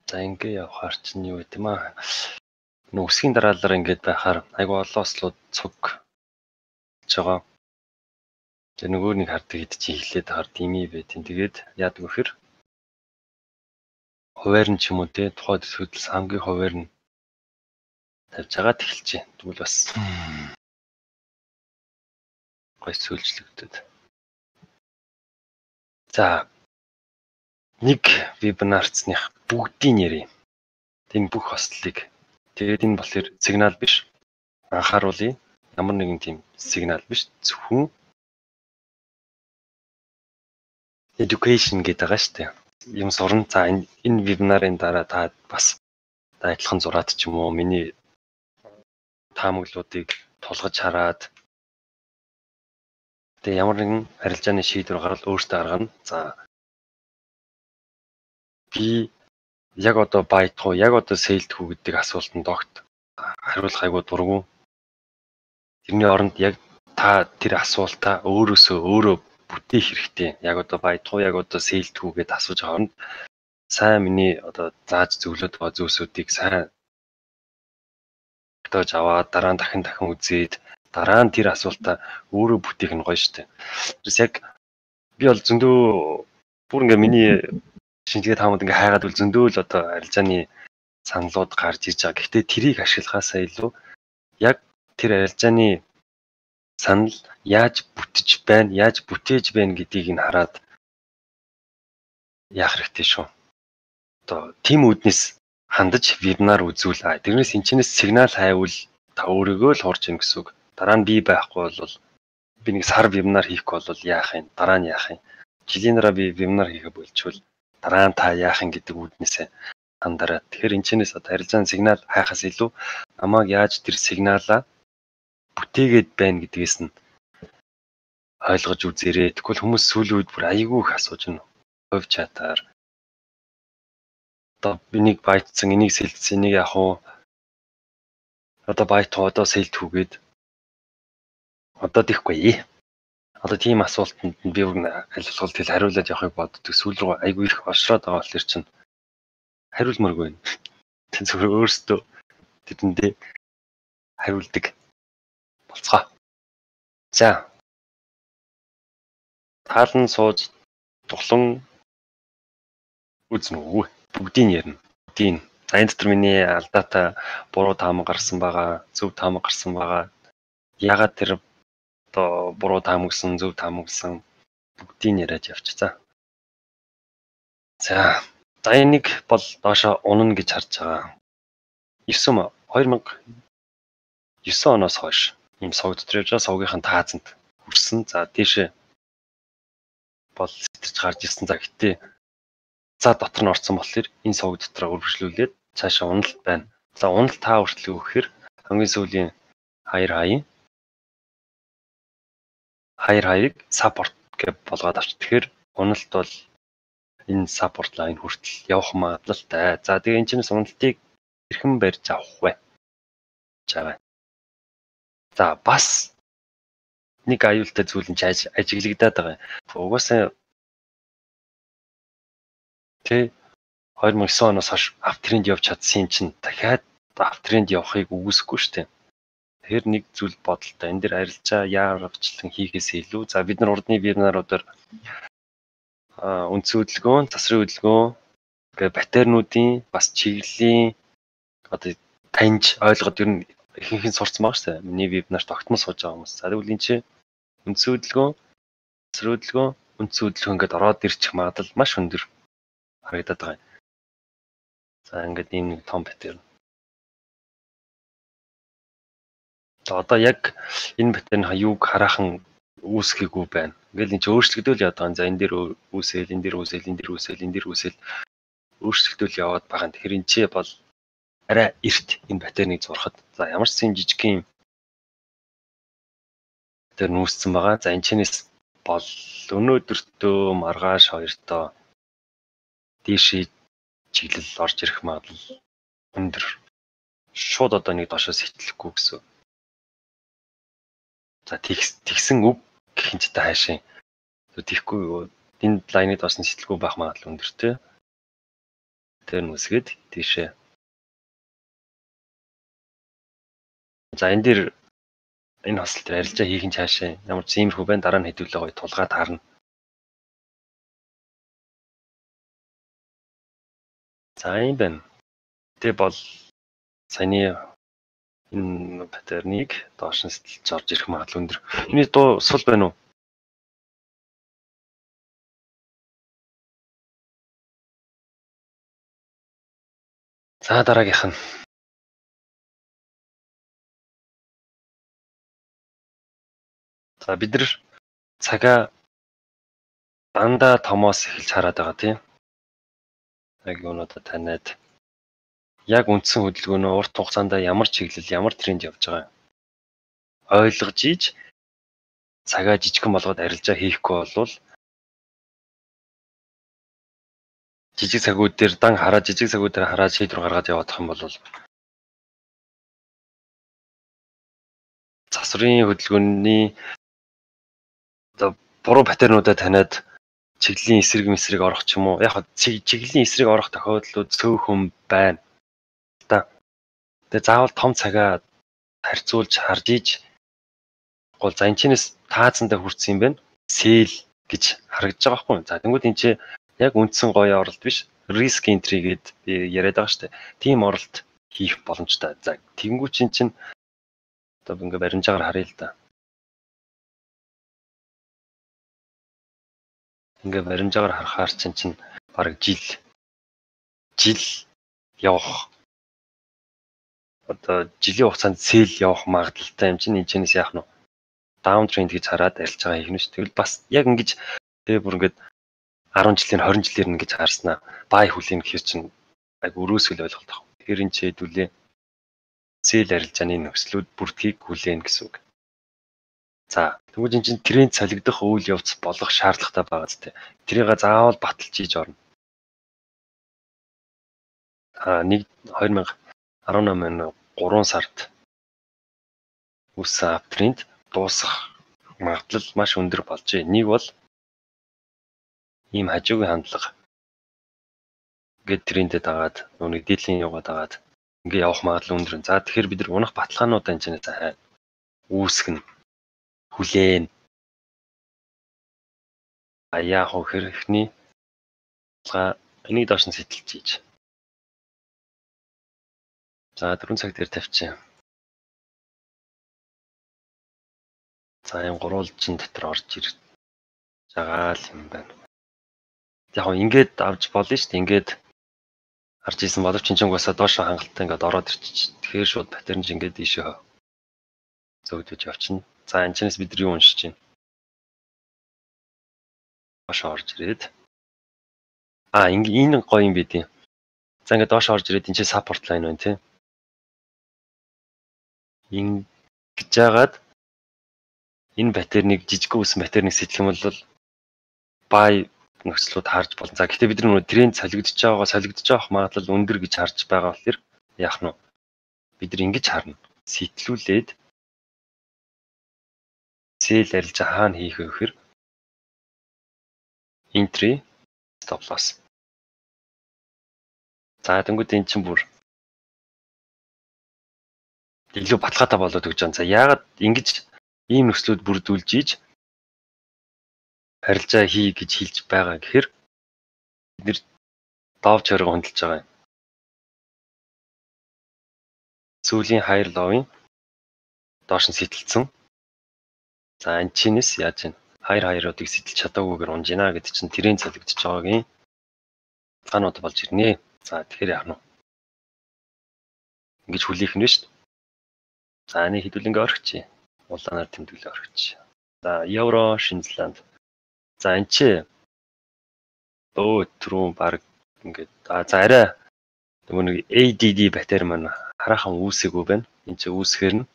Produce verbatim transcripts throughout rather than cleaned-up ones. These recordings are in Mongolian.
За ингээ явахаар чинь юу гэдэм аа. Нөө үсгийн дараалал ингээд байхаар айгу олон ослууд цуг байгаа. Тэгээ нөгөө нэг хардаг хэд чи хэлээд хаар дими байт. Тэгээд яадаг вэхэр хуваар нь ч юм уу те тухайд хөдөлсөн хамгийн хуваар нь тавьж байгаа тэгэлжээ. Тэгвэл бас гой сүлжлэгдэв. За нэг вебинарцных бүгдийг нэрээ. Энэ бүх хослолыг. Тэгээд энэ болохоор сигнал биш. Анхааруулъя. Ямар нэгэн тийм сигнал биш. Зөвхөн education гэдэг байгаа шүү дээ. Юм сурна. За энэ энэ вебинарын дараа та бас та адилхан зураад ч юм уу миний таамаглуудыг тулгаж хараад тэгээ ямар нэгэн арилжааны шийдвэр гаргал өөртөө гаргана. За би яг одоо байтх уу, яг одоо сейлдэх үү гэдэг асуултанд огт хариулах айгуу дурггүй. Тэрний оронд яг та тэр асуултаа өөрөөсөө өөрөө бүтээх хэрэгтэй. Яг одоо байтх уу, яг одоо сейлдэх үү гэдээ асууж байгаа нь сайн миний одоо зааж зөвлөд байгаа зүйлсүүдийг сайн тож аваад дараа нь дахин дахин үзээд дараа нь тэр асуултаа өөрөө бүтээх нь гоё штэ. Тэрс яг би бол зөндөө бүр ингээ миний шинжлэх таамад ингээ хайгаад бол зөндөө л одоо арилжааны саналууд гарч ирж байгаа. Гэхдээ тэрийг ашиглахаасаа илүү яг тэр арилжааны санал яаж бүтэж байна, яаж бүтээж байна гэдгийг нь хараад яах хэрэгтэй шүү. Одоо тим үүднээс хандаж вебинар үзүүл. Тэрнээс энэчнээс сигнал хайвал та өөрийгөө л хурж ийн гэсэн үг. Дараа нь би байхгүй бол би нэг сар вебинар хийхгүй бол яах юм? Дараа нь яах юм? Жилийн дараа би вебинар хийхэ болчихвол дараа нь та яах юм гэдэг үүднээсээ хандараа. Тэгэхээр энэчнээс одоо арилжааны сигнал хайхаас илүү намайг яаж тэр сигналаа бүтээгээд байна гэдгээс нь ойлгож үзээрэй. Тэгвэл хүмүүс сүүлийн үед бүр айгүй их асууж байна. Хувь чатаар одоо энийг байтцсан, энийг сэлдсэн, энийг яах вэ? Одоо байт одоо сэлдэхүүгээд одоо тийхгүй. Одоо тийм асуултанд би бүр аль болох тэл хариулаад явахыг боддог. Сүүл рүү айгүй их оршроод байгаа болохоор чинь хариулмаргүй байна. Тэн зөвхөн өөрсдөө тэдэндээ хариулдаг болцгоо. За. Таалан сууж дуглан үзнэ үү? Бүгдийг ярина. Бүгдийг. За энэ дотор миний алдаатай буруу таамаг гарсан байгаа, зөв таамаг гарсан байгаа. Ягаад тэр одоо буруу таамагсан, зөв таамагсан бүгдийг яриад явчихъя. За. За энийг бол доошоо унана гэж харж байгаа. девять хоёр мянга девять оноос хойш ийм сувг дотор явж байгаа сувгийнхын таазанд хүрсэн. За тийшээ бол сэтэрч гарч ирсэн. За гэтээ за дотор нь орсон болохоор энэ сувг дотроо үргэлжлүүлээд цаашаа уналт байна. За уналт та хүртэл өгөхээр хамгийн сүүлийн хоёр хаяа хоёр хаяг саппорт гэж болгоод авч. Тэгэхээр уналт бол энэ саппорт лайн хүртэл явах магадлалтай. За тэгээ энэ чинь уналтыг хэрхэн барьж авах вэ? Жаа. За бас нэг аюултай зүйл нь ажиглагдаад байгаа. Угаасаа тэ хоёр мянга девять оноос хойш автренд явж чадсан юм чинь дахиад автренд явахыг үгүйсэхгүй шүү дээ. Тэгэхээр нэг зүйл бодолтой. Энэ дэр арилжаа яарвчлан хийхээс илүү за бид нар урдны вебинаруудаар а үндсэн хөдөлгөөн, засрын хөдөлгөөн, гэ батернуудын бас чиглэлийн одоо таньж ойлгоод ер нь ихэнх нь сурцсан байгаа шүү дээ. Миний вебинарт тогтмол сууж байгаа хүмүүс. За тэгвэл энэ чинь үндсэн хөдөлгөөн, засрын хөдөлгөөн, үндсэн хөдөлгөөн гэдээ ороод ирчих магадлал маш өндөр харагдаад байгаа юм. За ингээд ийм нэг том паттерн. За одоо яг энэ паттерн юуг хараахан үүсгэхгүй байна. Ингээл энэ ч өөрчлөгдөөл яваад байгаа. За энэ дээр үүсэл, энэ дээр үүсэл, энэ дээр үүсэл, энэ дээр үүсэл өөрчлөгдөөл яваад байгаа. Тэгэхээр энэ ч бол арай эрт энэ паттерныг зурхад. За ямар ч юм жижигхэн паттерн үүссэн байгаа. За энэ чинээс бол өнөөдөртөө маргааш хоёртоо дээшээ чиглэл орж ирэх магадлал өндөр. Шууд одоо нэг доошоос хитлэхгүй гэсэн. За тэгсэн үг гэх юм ч та хаашаа. Тийхгүй энд лайны доош нь сэтэлгүй байх магадлал өндөртэй. Тэр нь үсгээд тийшээ. За энэ дээр энэ хосол дээр арилжаа хийх нь цаашаа ямар ч иймэрхүү байна, дараа нь хэдүүлээ гоё тулгаад харна. За юм байна. Тэ бол саяны энэ паттерныг доош нь сэтэлж орж ирэх магадлал өндөр. Миний дуу сул байна уу? За дараагийнх нь. За бид нар цагаа дандаа томоос эхэлж хараад байгаа тийм. Яг юунуудаа таниад яг үндсэн хөдөлгөөнөө урт хугацаанд ямар чиглэл, ямар тренд явж байгаа ойлгож ийж цагаа жижигхэн болгоод арилжаа хийхгүй болвол жижиг цагууд дээр дан хараад жижиг цагууд дээр хараад шийдвэр гаргаад явах юм бол засварын хөдөлгөөний одоо буруу паттернуудаа таниад чиглэлийн эсрэг мэсрэг орох ч юм уу. Яг чиглэлийн эсрэг орох тохиолдлууд цөөхөн байна. Та. Тэгээ заавал том цагаа харьцуулж харж ийж гол за энэ чинээс таацсандаа хүрсэн юм байна. Сэл гэж харагдаж байгаа байхгүй юу? За тэнгууд энэ чи яг үндсэн гоё оролт биш. Risk entry гэд би яриад байгаа шүү дээ. Тим оролт хийх боломжтой. За тэнгууд чин чин одоо ингээ баримжаагаар харъя л да. Ингээ баримжаагаар харахаар чин чин бараг жил жил явах одоо жилийн хугацаанд сэл явах магадлалтай юм чинь энэ чинээс яах нь даун тренд гэж хараад арилж байгаа юм шүү. Тэгвэл бас яг ингэж тэгээ бүр ингээд арван жилийн хорин жилээр ингэж харснаа бай хүлээн гэхэр чинь аг өрөөсгөл ойлголт авах. Тэгэхээр энэ ч хэдүүлээ сэл арилжааны нөхцлүүд бүрдгийг хүлээн гэсэн үг. За тэгвэл энэ чинь тренд солигдох үйл явц болох шаардлагатай байгаа зү. Тэрийг заавал баталж хийж орно. А нэг хоёр мянга арван намын гурван сард үсэн аптренд дуусах магадлал маш өндөр болжээ. Нэг бол ийм хажуугийн хандлага ингээд трендэд дагаад нүг дийлэн яваад дагаад ингээд явах магадлал өндөр. За тэгэхээр бид нар унах баталгаануудаа энэ чинь сайн үүсгэн хүлээн а яах вэ хэрхний баталгаа энийг доош нь сэтэлж хийж. За дөрвөн цаг дээр тавьчих. За энэ гурвалжин дотор орж ирж байгаа л юм байна. Яг нь ингээд авч болно шүү дээ. Ингээд харж исэн боловч чинь угаасаа доошоо хангалттай ингээд ороод ирчих. Тэгэхээр шууд паттерн чинь ингээд ийшээ зөгдөж явчихна. За энэ чинээс бид нар юу уншиж байна? Доошоо орж ирээд а энэ гоё юм бид юм. За ингээд доошоо орж ирээд энэ чинь саппорт лайн байна тийм. Ингэж жагаад энэ паттерныг жижиг үсэн паттерныг сэтлэх юм бол бай нөхцлүүд харж болно. За гэхдээ бид нар нөгөө тренд солигдож байгаа солигдож авах магадлал өндөр гэж харж байгаа болохоор яах нь бид нар ингэж харна. Сэтлүүлээд сэл арилжаа хаана хийх вэ гэхээр entry stop loss. За тэнгууд эн чинь бүр илүү баталгаатай болоод өгч байгаа. За яагаад ингэж ийм нөхцлүүд бүрдүүлж ийж харилцаа хий гэж хэлж байгаа гэхээр бид нэр доовч хориг хөндлөж байгаа юм. Сүүлийн higher low-ын доош нь сэтэлцэн. За энэ чинээс яаж вэ? Higher higher-уудыг сэтэлж чадаагүйгээр унж гинэ гэдэг чинь тренд солигдож байгаагийн цаанууд болж ирнэ. За тэгэхээр яах нь вэ? Ингэж хүлээх нь шүү дээ. За нэг хэдүүлэнгээ орхичих. Улаанаар тэмдэглээ орхичих. За евро, Шинзланд. За энэ чи өө түрүү баг ингээд за арай нөгөө нэг A D D батарей маань хараахан үүсээгүй байна. Энд чи үүсгэхээр нь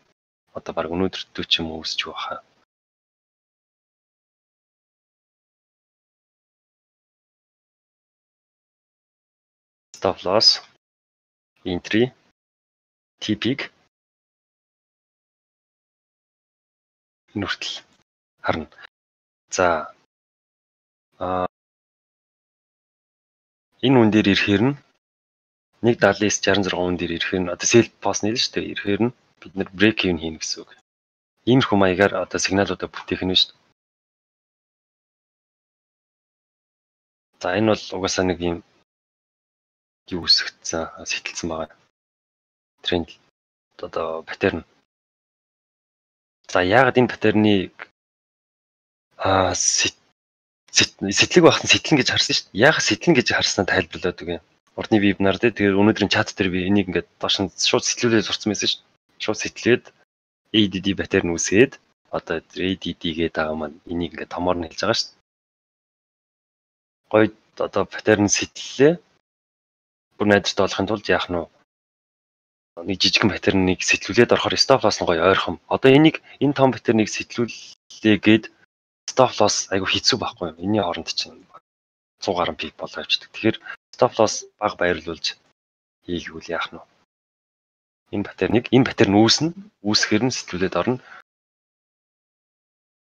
одоо баг өнөөдөртөө ч юм үүсэж байгаа. Stop loss, entry, T P-г нүртэл харна. За а энэ үн дээр ирэхээр нь нэг даалын шестьдесят шесть үн дээр ирэхээр нь одоо sell post нэлээ шүү дээ. Ирэхээр нь бид нэр break even хийнэ гэсэн үг. Иймэрхүү маягаар одоо сигналуудаа бүтээх нь шүү дээ. За энэ бол угаасаа нэг юм юу үсгдсэн, сэтэлсэн байгаа. Тренд одоо паттерн. За яагаад энэ паттерныг аа сэтлэг багтан сэтлэн гэж харсан шүү дээ. Яагаад сэтлэн гэж харснаа тайлбарлаад өгье. Урдны вебинар дээр тэгээд өнөөдрийн чат дээр би энийг ингээд доош нь шууд сэтлүүлээд сурцсан байсан шүү дээ. Шууд сэтлээд A D D паттерн үсгээд одоо A D D гэдэг байгаа маань энийг ингээд томоор нь хэлж байгаа шүү дээ. Гойд одоо паттерн сэтлэлээ бүр найдвартай болохын тулд яах нь вэ? Нэг жижигхэн паттерныг сэтлүүлээд орохоор stop loss нь гоё ойрхон. Одоо энийг энэ том паттерныг сэтлүүлээ гээд stop loss айгу хэцүү байхгүй юм. Энийн хооронд чинь сто гаруй пик болоо явчихдаг. Тэгэхээр stop loss бага байрлуулж хийгүүл яах нь вэ? Энэ паттерныг энэ паттерн үүснэ, үүсгэхээр нь сэтлүүлээд орно.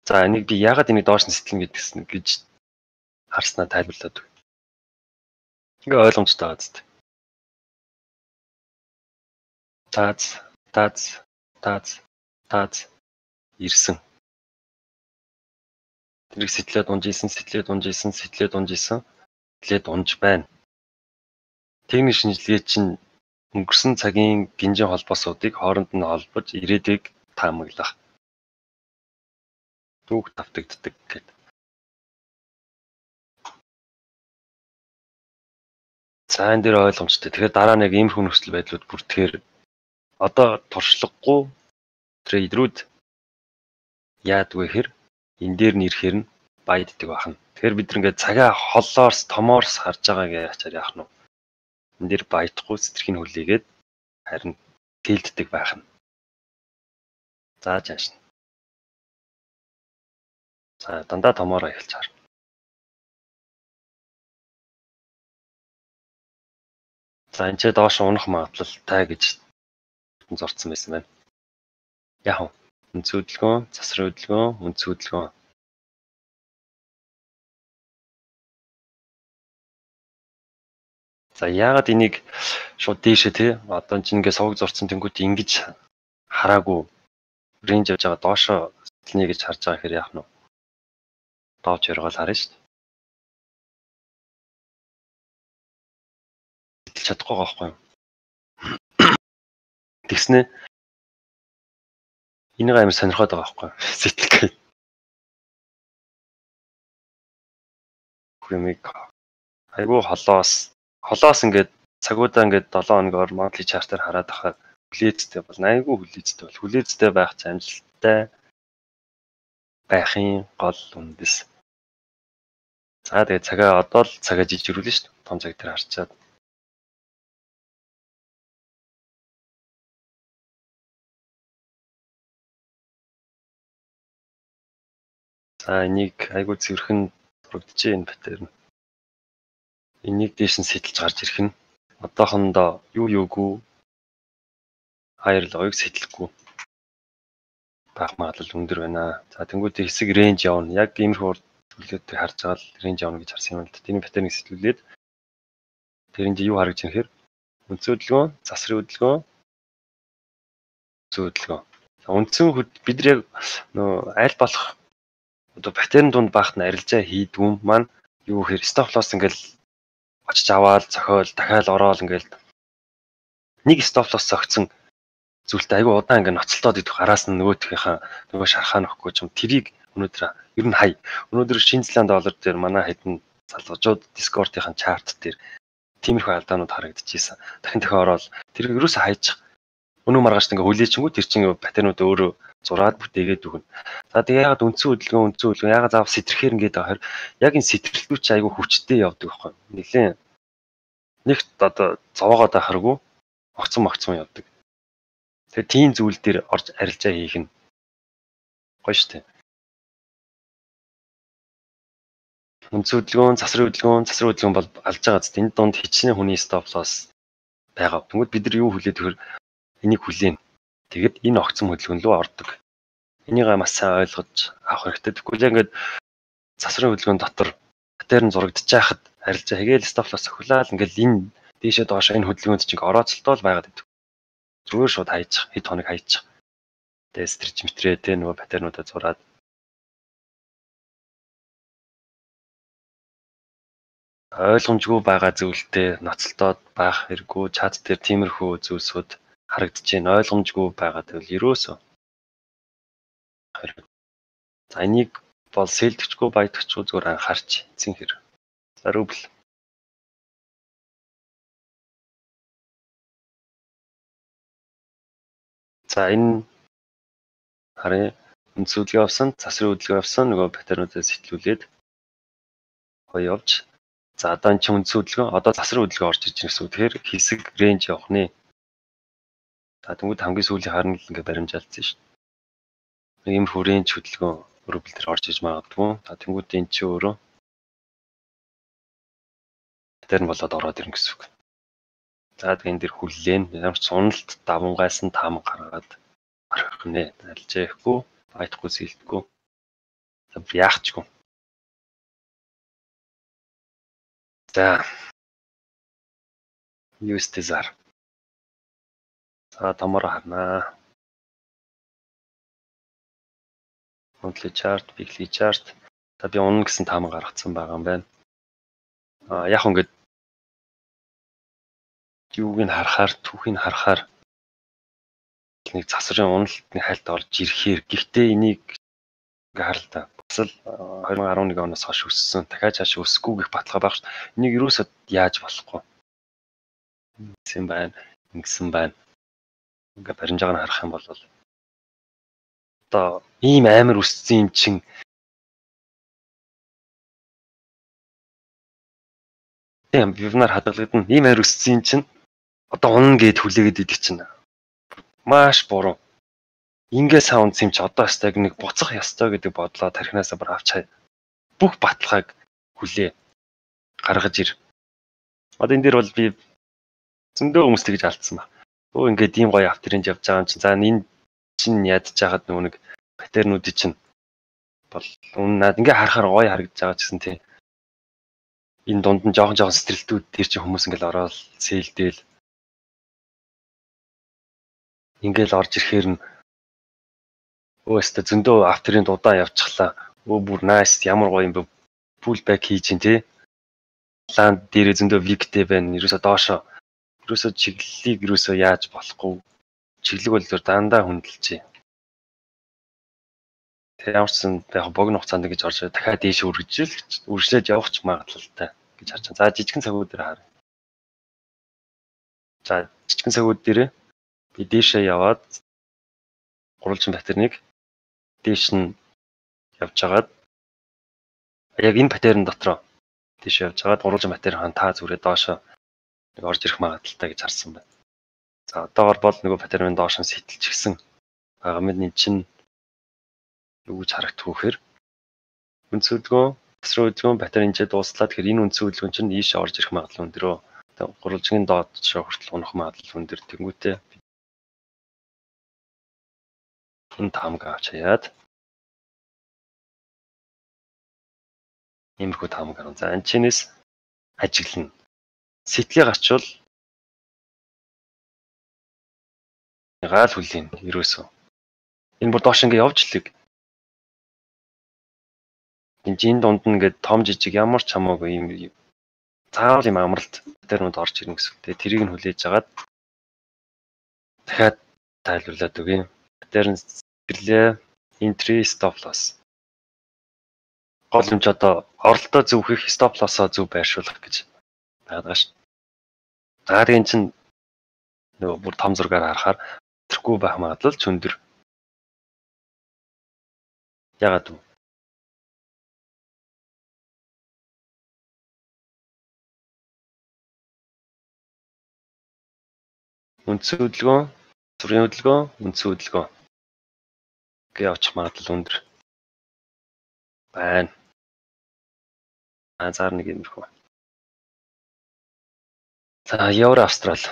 За энийг би яагаад энийг доош нь сэтлэн гэдгсэн гэж харснаа тайлбарлаад өгье. Ингээ ойлгомжтой байгаа зү. Таац, таац, таац, таац ирсэн. Тэрийг сэтлээд унжижсэн, сэтлээд унжижсэн, сэтлээд унжижсэн, сэтлээд унж байна. Техник шинжилгээ чинь өнгөрсөн цагийн гинжин холбоосуудыг хооронд нь холбож ирээдүйг таамаглах. Түүх давтагддаг гэдэг. За энэ дээр ойлгомжтой. Тэгэхээр дараа нэг ийм хүн нөхцөл байдлууд бүртгэхээр одоо туршлагагүй трейдерүүд яадгүй хэр энэ дээр нь ирэхээр нь байддаг байна. Тэгэхээр бид ингээд цагаа холлоорс, томоорс харж байгааг яачаар яах нь вэ? Энэ дээр баядахгүй сэтгэрхийг хүлээгээд харин тэлддэг байх нь. За жааш. За дандаа томоороо эхэлж хар. За энэ ч доош унах магадлалтай гэж зорцсон байсан байна. Яг үнц хөдөлгөөн, засрын хөдөлгөөн, үнц хөдөлгөөн. За яагаад энийг шууд дээшээ тий одоо ч ингэ сувг зурцсан тэнгууд ингэж хараагүй рейнж явж байгаа доошоо сэтгэлнэ гэж харж байгаа хэрэг яах нь вэ? Доовч яргаал харна шүү дээ. Сэтгэл чадахгүй байгаа байхгүй юу? Тэгснэ энийг амар сонирхоод байгаа байхгүй юу? Сэтгэл. Хэмиг айгүй холоос холоос ингээд цагуудаа ингээд долоон хоногор monthly chart-аар хараад ахаар хүлээцтэй бол айгүй хүлээцтэй бол хүлээцтэй байх амжилттай байхын гол үндэс. За тэгээд цагаа одоо л цагаа жижигрүүлнэ шүү дээ. Том цаг дээр харчаад. За энийг айгүй цэвэрхэн дурагдчихэ энэ паттерн. Энийг дээш нь сэтэлж гарч ирэх нь одоохондоо юу юугүй хайрлогыг сэтэлэхгүй байх магадлал өндөр байна. За тэнгуүтэй хэсэг рейнж явна. Яг иймэрхүү зүйлүүдийг харж байгаа л рейнж явна гэж харсан юм л да. Тэний паттерныг сэтгүүлээд тэрэнд юу харагдж байгаа хэрэг үндсэн хөдөлгөөн, засрын хөдөлгөөн, үндсэн хөдөлгөөн. Үндсэн бид яг нөө аль болох одоо паттерн дунд багт нь арилжаа хийдгүм маань юу гэхээр stop loss ингээл очиж аваад цохиол дахиад ороод ингээл нэг stop loss зогцсон зүйлтэй айгүй удаан ингээ ноцолтоод идэх араас нь нөгөөтгийнхаа нөгөө шархаа нөхгүй ч юм тэрийг өнөөдөр ер нь хай. Өнөөдөр Шинэ Зеланд доллар дээр манай хэдэн залгажууд Discord-ийн чарт дээр тиймэрхүү алдаанууд харагдчихсэн. Дахин дахин ороод тэрийг ерөөсөө хайчих. Өнөө маргааш ингээ хүлээчингүү тэр чинь паттернууд өөрөө зураад бүтээгээд өгнө. За тэгээ ягаад үндсэн хөдөлгөөн үндсэн хөдөлгөөн ягаад заав сэтрхээр ингээд байгаа хэрэг яг энэ сэтрэлтүүд чи айгүй хүчтэй явдаг байхгүй. Нилээн нэг одоо зовоогоод байх хэрэггүй огцон могцон явдаг. Тэгээ тийм зүйл дээр орж арилжаа хийх нь гоё штэ. Үндсэн хөдөлгөөн, засрын хөдөлгөөн, засрын хөдөлгөөн бол алж байгаа зү. Энд донд хичнээн хүний stop loss байгаа. Тэгвэл бид нар юу хүлээд өгөхөр энийг хүлээн. Тэгэд энэ огцон хөдөлгөөн рүү ордог. Энийг маш сайн ойлгож авах хэрэгтэй. Тэгвэл яг ингээд засрын хөдөлгөөн дотор паттерн зурагдчих хахад Арилжаа хийгээл stop loss охилаад ингээл энэ дээшээ доош энэ хөдөлгөөнд чинь орооцолтол байгаад идэв. Зүгээр шууд хайчих, хэд хоног хайчих. Тэгээ стрич мэтрээ тэ нөгөө паттернуудаа зураад ойлгомжгүй байгаа зүйлтэй ноцолтоод байх хэрэггүй чат дээр тиймэрхүү зүйлсүүд харагдаж байна. Ойлгомжгүй байгаа гэвэл ерөөсөө хэрэг. За энийг бол сэлдэгчгүй баядагчгүй зүгээр анхаарч эцсийн хэр. За рубль. За энэ харин үнцүүлгээ авсан, засрын хөдөлгөөн авсан нөгөө паттернуудаа сэтгүүлээд гоё явж. За одоо энэ чинь үнцүүлгээ, одоо засрын хөдөлгөөн орж иж ирсэн гэсэн үг. Тэгэхээр хэсэг рейнж явах нэ. За тэгвэл хамгийн сүүлийн харна л ингээ баримжаалцсан шүү дээ. Нэг юм хүрээнд хөдөлгөөн рубль дээр орж иж магадгүй. За тэгвэл энэ чи өөрөө паттерн болоод ороод ирнэ гэсэн үг. За тэгээ энэ дэр хүллээн ямар ч суналт давангайсан таамаг гаргаад арах нэ. Алжээхгүй, баяхгүй сэлдэхгүй. За яахчгүй. За. ю эс ди зар. За томор харнаа. Monthly chart, weekly chart. За би унна гэсэн таамаг гаргацсан байгаа юм байна. А яг ингээд юуг нь харахаар, түүхийг харахаар нэг засрын уналтны хальт орж ирэхээр гэхдээ энийг ингээ харал та. Бас л две тысячи десять оноос хойш өссөн. Дахиад цааш өсөхгүй гэх баталгаа байх шүү. Энийг юусоо яаж болохгүй. Ингэсэн байна, ингэсэн байна. Ингээ баримжааг нь харах юм бол одоо ийм амар өссөн юм чин тийм бивнаар хадгалагдана. Ийм амар өссөн юм чин одоо унна гэд хүлээгээд идэг чинь маш буруу. Ингээ саунд юм чи одоо стаг нэг буцах ёстой гэдэг бодлоо тархинасаа бүр авч хай. Бүх баталгааг хүлээ гаргаж ир. Одоо энэ дээр бол би зөндөө хүмүүс тэгж алдсан ба. Өө ингээд ийм гоё авторинж явж байгаа юм чинь. За энэ чинь ядж жагаад нөгөө нэг паттернуудыг чинь бол үннаад ингээ харахаар гоё харагдаж байгаа ч гэсэн тийм. Энэ дунд нь жоохон жоохон стрэлтүүд тэр чинь хүмүүс ингээл ороод сэлдээл ингээл орж ирэхээр нь өөстө зөндөө авторын дудаа явчихлаа. Өө бүр найс ямар гоё юм бэ. Pull back хийж ин тий. Ланд дээрээ зөндөө виктэй байна. Ерөөсө доошоо ерөөсө чиглэлийг ерөөсө яаж болохгүй. Чиглэг бол зур дандаа хөндлөж. Тэг ямарчсан яг богино хугацаанд гэж орж дахиад дээш үргэлжил үргэлжлээд явах ч магадлалтай гэж харж байна. За жижигхэн цагууд дээр харъя. За жижигхэн цагууд дээр би дээшээ яваад гурвалжин паттерныг дээш нь явж хагаад яг энэ паттерн дотроо дээш явж хагаад гурвалжин паттерн хаан та зүрээ доошоо нэг орж ирэх магадлалтай гэж харсан байна. За одоогор бол нөгөө паттерн доош нь сэтэлчихсэн байгаа мэд эн чинь юу гэж харагдах вөхөр үнцөлгөө тасрын хөдөлгөөн паттерн инжээ дууслаа тэгэхээр энэ үнцэн хөдөлгөөн чинь ийшээ орж ирэх магадлал өндөрөө гурвалжин доод шоо хүртэл унах магадлал өндөр тэнгүүтээ энэ таамаг авч хаяад иймэрхүү таамаг гарна. За анчинээс ажиглана. Сэтлийг гарчвал гаал хүлээн ерөөсөө. Энэ бүр доош ингээ явж лэг. Энд энэ дунд нь ингээд том жижиг ямар ч хамаагүй юм заавал юм амралт паттернууд орж ирнэ гэсэн. Тэгээ тэрийг нь хүлээж агаад дахиад тайлбарлаад өгье. Паттерн сэтлээ entry stop loss. Гол юм ч одоо оролтоо зөвхөх stop loss-оо зөв байршуулах гэж байгаа шүү. За тийм чинь нөгөө бүр том зургаар харахаар тэрхгүй байх магадлал ч өндөр. Ягаад вэ? Үндсэн хөдөлгөөн, зүрийн хөдөлгөөн, үндсэн хөдөлгөөн гээ очих магадлал өндөр байна. Анзаар нэг юмрхүү. За евро австрал.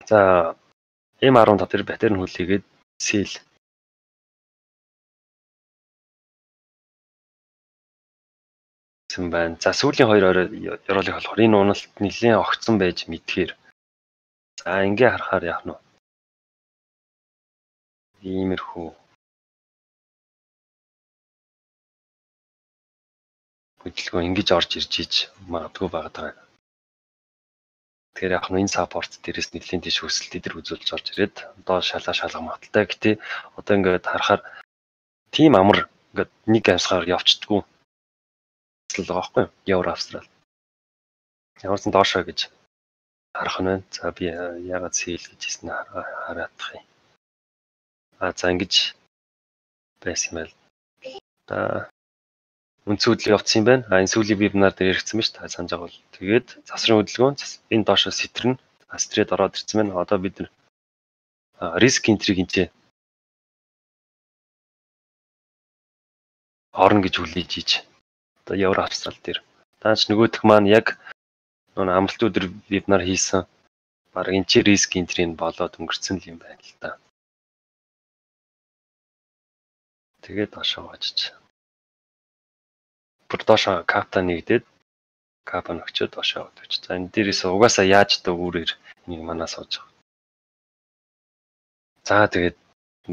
За эм десять дээр паттерн хүлээгээд сэл. гэсэн байна. За сүүлийн хоёр ёроолыг болохоор энэ уналт нэлээд огцсон байж мэдхээр. За ингээ харахаар яах нь вэ? Иймэрхүү хөдөлгөөн ингэж орж ирж иж магадгүй байгаа. Тэгэхээр яг нь энэ саппорт дээрээс нэлийн тийш өсөлт идэр үзүүлж орж ирээд одоо шалаа шалгах магадaltaй. Гэтэ одоо ингээд харахаар тийм амар ингээд нэг амьсгаар явцдаггүй. Эсвэл байгаа байхгүй юу? Евро Австрал. Ямарсан доошоо гэж харах нь байна. За би ягаад сэл гэж хэлсэн хараадах юм. А за ингэж байсан байл. За үнцүүдэл явцсан юм байна. А энэ сүүлийн вебинар дээр яригдсан ба ш та санаж байгаа бол. Тэгээд засрын хөдөлгөөн энэ доошоо сэтэрнэ. Астрид ороод ирсэн байна. Одоо бид нар риск энтриг энэ орно гэж хүлээж ийж. Одоо Евро Австрал дээр. Таач нөгөөх маань яг нөө амралт өдөр вебинар хийсэн. Бараг энэ чи риск энтрийг болоод өнгөрцөн юм байна л да. Тэгээд доошоо очиж. Бүр доошоо капта нэгдээд капа нөгчөөд доошоо өгч. За энэ дээрээс угаасаа яаж дөө үүрээр энийг манаа сууж байгаа. За тэгээд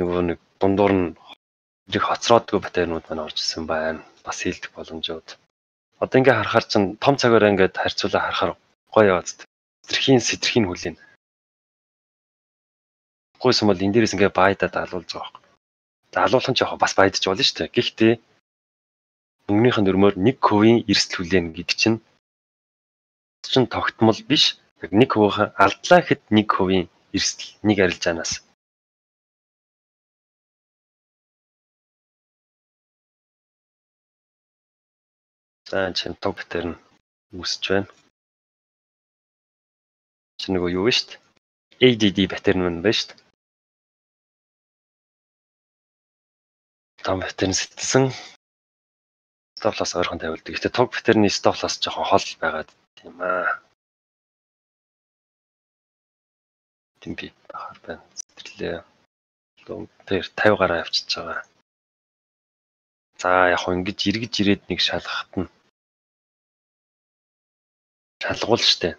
нөгөө нэг дундуур нь их хоцроодгүй батарейнууд маань орж ирсэн байна. Бас хийлдэх боломжууд. Одоо ингээ харахаар чинь том цагаараа ингээд харьцуулаа харахаар гоё яваад. Сэтэрхийн сэтэрхийн хүлээн. Гойсон бол энэ дээрээс ингээ байдаа даалуулж байгаа. Даалуулах нь ч яг бас байдаж болно шүү дээ. Гэхдээ өнгөнийх нь өрмөөр нэг хувийн эрсдэл хүлээн гэдэг чинь чинь тогтмол биш. Яг нэг хувийн алдлаа гэхэд нэг хувийн эрсдэл нэг арилжаанаас. За чинь тог битэр нь үүсэж байна. Чи нөгөө юу вэ шүү дээ? эй ди ди битэр нь байна шүү дээ. Том битэр нь сэтсэн. Стоп-лосс ойрхон тавилдаг. Гэтэ тог битэрний стоп-лосс жоохон хол байгаад тийм аа. Тийм би бахаар байна. Сэтэрлээ. Тэр тавь гараа авчиж байгаа. За яг хөө ингэж эргэж ирээд нэг шалгахт нь шалгуул штэ.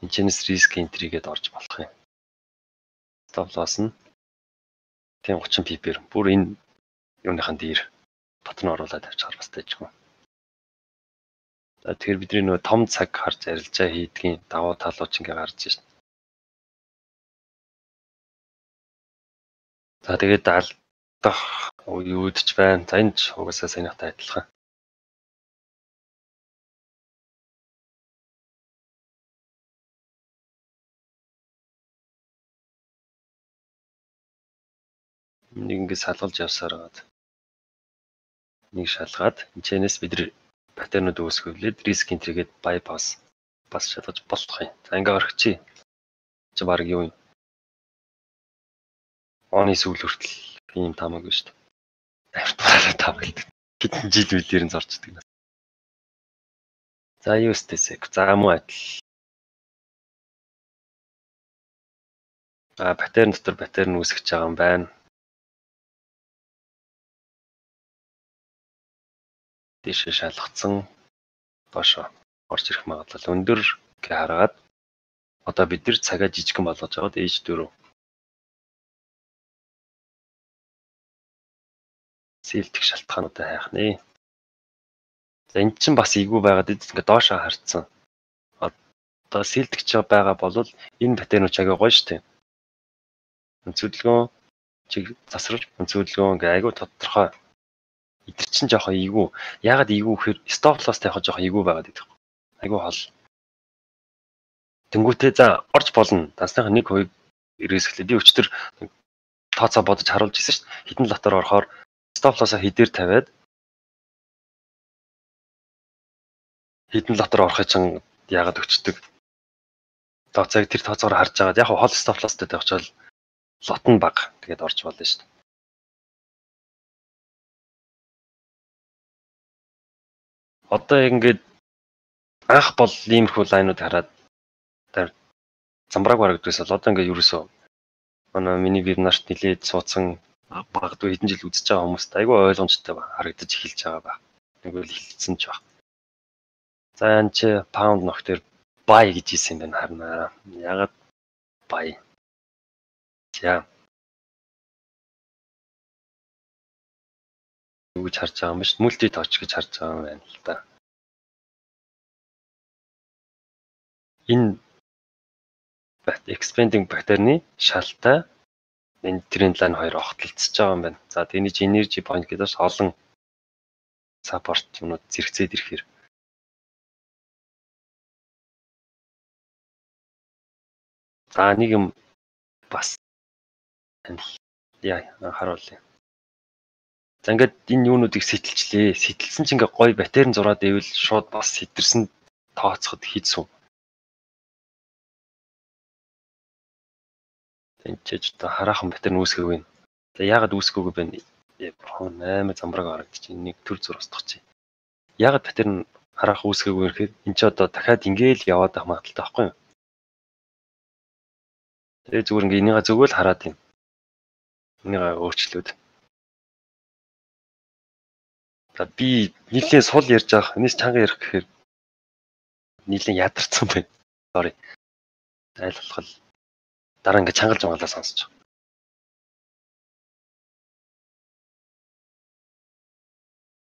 Энэчнээс риск энтригээд орж болох юм. Стоп-лосс нь тийм тридцать пипер. Бүр энэ юуныхан дээр батн оруулаад авчихар бас таажгүй. За тэгэхээр бидний нөгөө том цаг харж арилжаа хийдгийн давуу талууд ч ингээ гарч ирж байна. За тэгээд алдах юудч байна. За энэ ч угаасаа санийхтай адилхан. Нэг ингээ салгалж явсаар байгаа. Нэг шалгаад энэчнээс бид паттернууд үүсгэвлээд риск энтригээд bypass бас шалгаж болох юм. За ингээ орчихъя. Чи баг юу юм? Оны сүүл хүртэл ийм таамаагүй шүү дээ. Автобараа таамаглаад хэдэн жил үлээр нь зорчдөг. За юу стэсэг. За муу адил. А паттерн дотор паттерн үүсгэж байгаа юм байна. Дэше шалгацсан доошо орж ирэх магадлал өндөр гэж хараад одоо бид нар цагаа жижигхан болгож аваад ээж дөрөв сэлдэх шалтгаануудаа хайх нэ. За энэ чинь бас ийгүү байгаад ингээд доошоо харцсан. Одоо сэлдэгч байгаа бол энэ паттерн чагаа гоё штэ. Өнцөдлгөө чиг засварч өнцөдлгөө ингээ айгу тодорхой. Идэр чинь жоохон ийгүү. Ягаад ийгүү гэхээр стоп лосс тавих жоохон ийгүү байгаад идэх. Айгу хол. Тэнгүүтээ за орж болно. Дансныхаа нэг хувийг ирээсгэлээ. Би өчтөр тооцоо бодож харуулж ирсэн шүү дээ. Хитэн лотоор орохоор стоп лоссоо хідээр тавиад хитэн лотоор орохыг чинь яагаад өчтдөг. Тооцоог тэр тооцоогоор харж агаад яг хол стоп лосстой тавьчвал лот нь бага. Тэгээд орж болно шүү дээ. Одоо ингээд анх бол иймэрхүү лайнууд хараад замбрааг барагдвал одоо ингээд ерөөсөө манай миний вебинарт нилээд суудсан магадгүй хэдэн жил үзэж байгаа хүмүүст айгүй ойлгомжтой харагдаж эхэлж байгаа ба. Нэг үл хэлсэн ч баг. За энэ чи pound нөхдөр buy гэж хэлсэн юм байна харнаа. Ягаад buy? За. Юу гэж харж байгаа юм биш multi touch гэж харж байгаа юм байна л да. Энэ expanding паттерны шалтай энэ тренд лайн хоёр огтлцож байгаа юм байна. За тэний energy point гэдээс олон support юмнууд зэрэгцээд ирэхээр за нэг юм бас яа харуулъя. За ингээд энэ юунуудыг сэтэлчлээ. Сэтэлсэн чинь ингээ гой батерийн зураад ивэл шууд бас сэтэрсэн тооцоход хийцүү. Энд ч одоо хараахан батерийн үүсгэв юм. За яагаад үүсгэв бэ? eight замбраг харагдчих. Нэг төр зур устгах чи. Яагаад батерийн хараахан үүсгэв вэ гэхээр эн чи одоо дахиад ингээл яваад байх магадaltaй байхгүй юу? Тэгээ зүгээр ингээ энийгээ зөвгөл хараад юм. Энийгээ өөрчлөөд. За би нийлээ сул ярьж байгаа. Энэс чанга ярих гэхээр нийлээ ядарсан байна. Sorry. Айл болох дараа ингээ чангалж магалаа сонсож.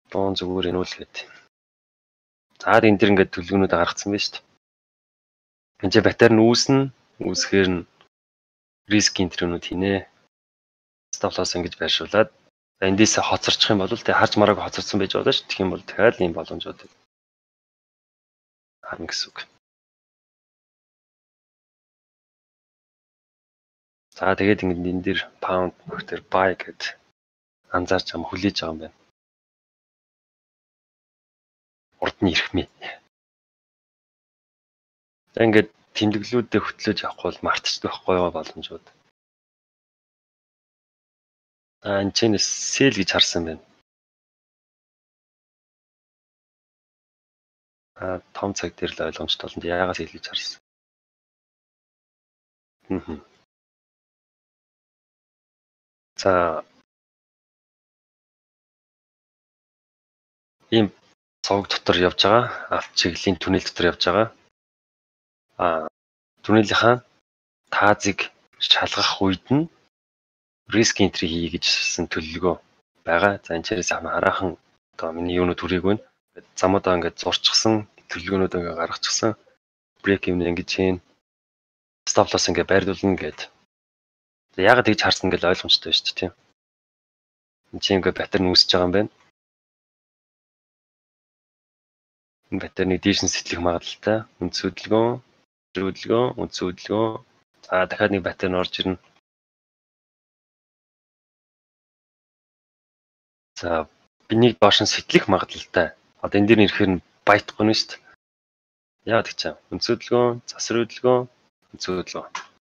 Дуун зүгээр энүүлгээд. За энэ дэр ингээ төлөвнүүд гаргацсан байна шүү дээ. Энд чи батарей нь үүснэ, үүсгээр нь риск энтринүүд хийнэ. Stop loss ингэж байршуулад эндээс хоцорчих юм бол тэг харж марааг хоцорсон байж болно шүү. Тэгэх юм бол дахиад ийм боломжууд харна гэсэн үг. За тэгээд ингэ энэ дэр pound нөхдөр buy гэд анзаарч ам хүлээж байгаа юм байна. Урд нь ирэх мэ. За ингээд тэмдэглэлүүдэд хөтлөөж явахгүй бол мартчихдаг байхгүй юу боломжууд. А энэ чинь sell гэж харсан байна. А том цаг дээр л ойлгомжтой болно. Яагаад sell гэж харсан? Хм. За ийм цог дотор явж байгаа. Авт чиглэлийн түнэл дотор явж байгаа. А түнэлийнхаа таазыг шалгах үед нь риск энтри хий гэжсэн төлөвлөгөө байгаа. За энэ чирээс хараахан одоо миний юунууд хүрээгүй байна. Замуудаа ингээд зурчихсан, төлөвлөгөөнүүд ингээд гаргачихсан. Брейк юм ингэж хийн. Stop loss ингээд байрлуулна гэд. Яагаад тэгж харсан гэж ойлгомжтой байна шүү дээ, тийм. Энд чинь ингээд паттерн үүсэж байгаа юм байна. Энэ паттерны дээш нь сэтлэх магадaltaй. Үндс хөдөлгөөн, хөдөлгөөн, үндс хөдөлгөөн. За дахиад нэг паттерн орж ирнэ. За бинийг доош нь сэтлэх магадaltaй. Одоо энэ дээр ирэхээр нь байтахгүй нь шүү дээ. Яагаад гэж чам? Үндс хөдөлгөөн, засвар хөдөлгөөн, үндс хөдөлгөөн.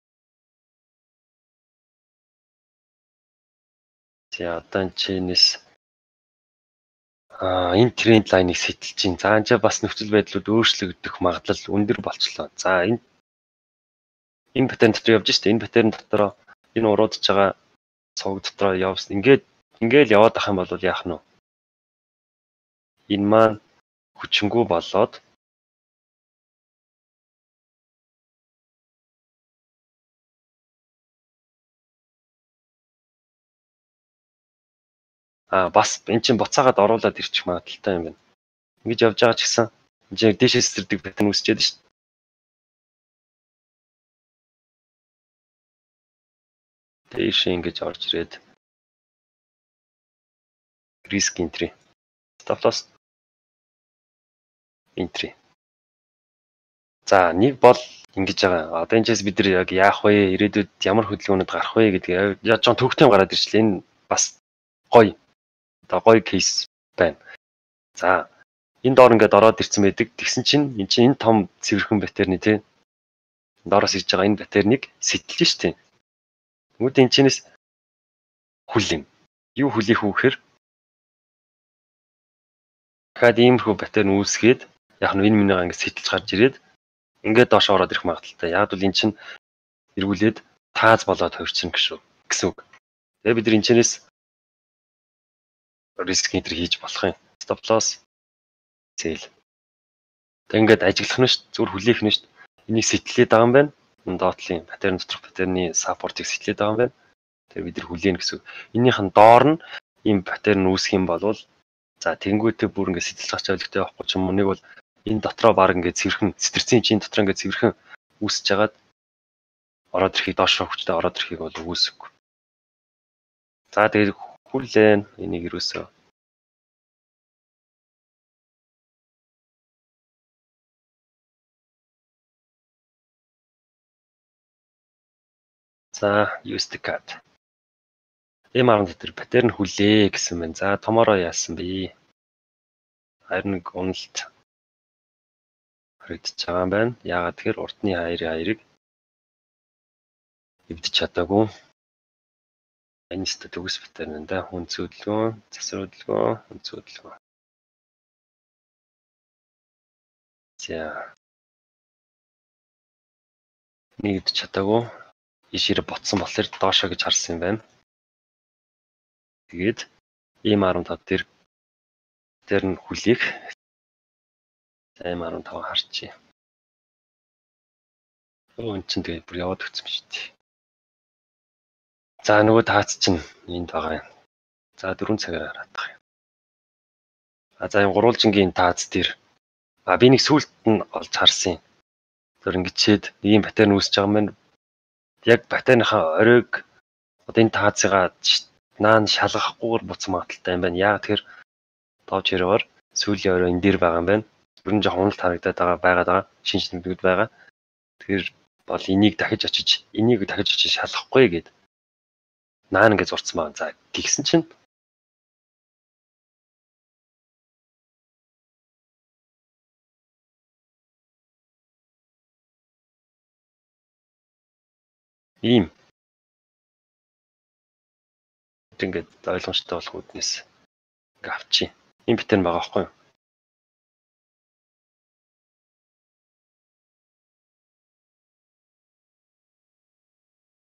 За одоо энэ чинээс а энэ тренд лайныг сэтэлж чинь. За энэ бас нөхцөл байдлууд өөрчлөгдөх магадлал өндөр болчлоо. За энэ энэ паттерн дотор явж штэ. Энэ паттерн дотор энэ уруудж байгаа цог дотор явсан. Ингээд ингээл яваад ах юм бол яах нь вэ? Энэ маань хүчингү болоод а бас эн чинь буцаагаад оруулаад ирчих магадaltaй юм байна. Ингэж явж байгаа ч гэсэн энэ чинь дээшээс сэрдэг паттерн үүсчихэд шүү дээ. Дээш ингэж орж ирээд риск энтри. Stop loss энтри. За нэг бол ингэж байгаа. Одоо энэчээс бид нар яг яах вэ? Ирээдүйд ямар хөдөлгөөнүүд гарах вэ гэдгийг яаж ч төвхтэй гараад ирчлээ. Энэ бас гоё. Одоо гоё кейс байна. За энэ доор ингээд ороод ирсэн байдаг. Тэгсэн чинь эн чинь энэ том цэвэрхэн паттерны тий. Доороос ирж байгаа энэ паттерныг сэтэлж штэ. Тэгмүүд энэ чинээс хүлээн. Юу хүлээх вэ гэхээр дахиад иймэрхүү паттерн үүсгээд яг нь энэ минийгаа ингээд сэтэлж гарч ирээд ингээд доош ороод ирэх магадaltaй. Яг бол эн чинь эргүүлээд тааз болоод хувирчин гэсэн үг. Тэгээ бид нар энэ чинээс риск энтри хийж болох юм. Stop loss sell. Тэг ингээд ажиглах нь шүү, зүгээр хүлээх нь шүү. Энийг сэтлээд байгаа юм байна. Dotl-ийн паттерн доторх паттерны саппортыг сэтлээд байгаа юм байна. Тэр бид нар хүлээн гэсэн. Энийх нь доор нь ийм паттерн үүсэх юм бол за тэнгуүтэй бүр ингээд сэтэл гарч авлигтай байхгүй ч юм уу. Нэг бол энэ дотроо баг ингээд цэвэрхэн цэвэрцэн чинь дотроо ингээд цэвэрхэн үүсэж хагаад ороод ирэхийг доош хөвчтэй ороод ирэхийг бол үүсэхгүй. За тэгээд хүлээн энийг юусоо за use the card. Эм арга дээр паттерн хүлээ гэсэн байна. За томороо яасан бэ? Харин нэг уналт харагдаж байгаа юм байна. Яагаад тэгэхээр уртны хоёрын хоёрыг эвдэж чадаагүй. Энэст төгс паттерн энэ хүн цөдлгөө, засварлгөө, хүн цөдлгөө. За нэг эвдэж чадаагүй. Ишээр ботсон болохоор доошоо гэж харсан юм байна. Тэгээд эм арван тав дээр тэр нь хүлээх. эм арван тав харчих. Өө эн чинь тэгээд бүр яваад өгсөн шүү дээ. За нөгөө таац чинь энд байгаа юм. За дөрвөн цагаар хараадах юм. А за энэ гурвалжингийн таац дээр а би нэг сүулт нь олж харсан юм. Тэр ингэчээд ийм паттерн үүсэж байгаа юм байна. Яг паттерныхаа оройг одоо энэ таацыгаа наан шалгахгүйгээр буцах магадaltaй юм байна. Яагаад тэгэхээр тоож хэрээр сүүлийн орой энэ дээр байгаа юм байна. Ер нь жоохон уналт харагдаад байгаа байгаад байгаа. Шинж тэмдэгүүд байгаа. Тэгэхээр бол энийг дахиж очиж энийг дахиж очиж шалгахгүй гээд наан ингэ зурцсан байна. За тэгсэн чинь ийм ингээд ойлгомжтой болох үднэс ингээ авчи. Ийм паттерн байгаа байхгүй юу?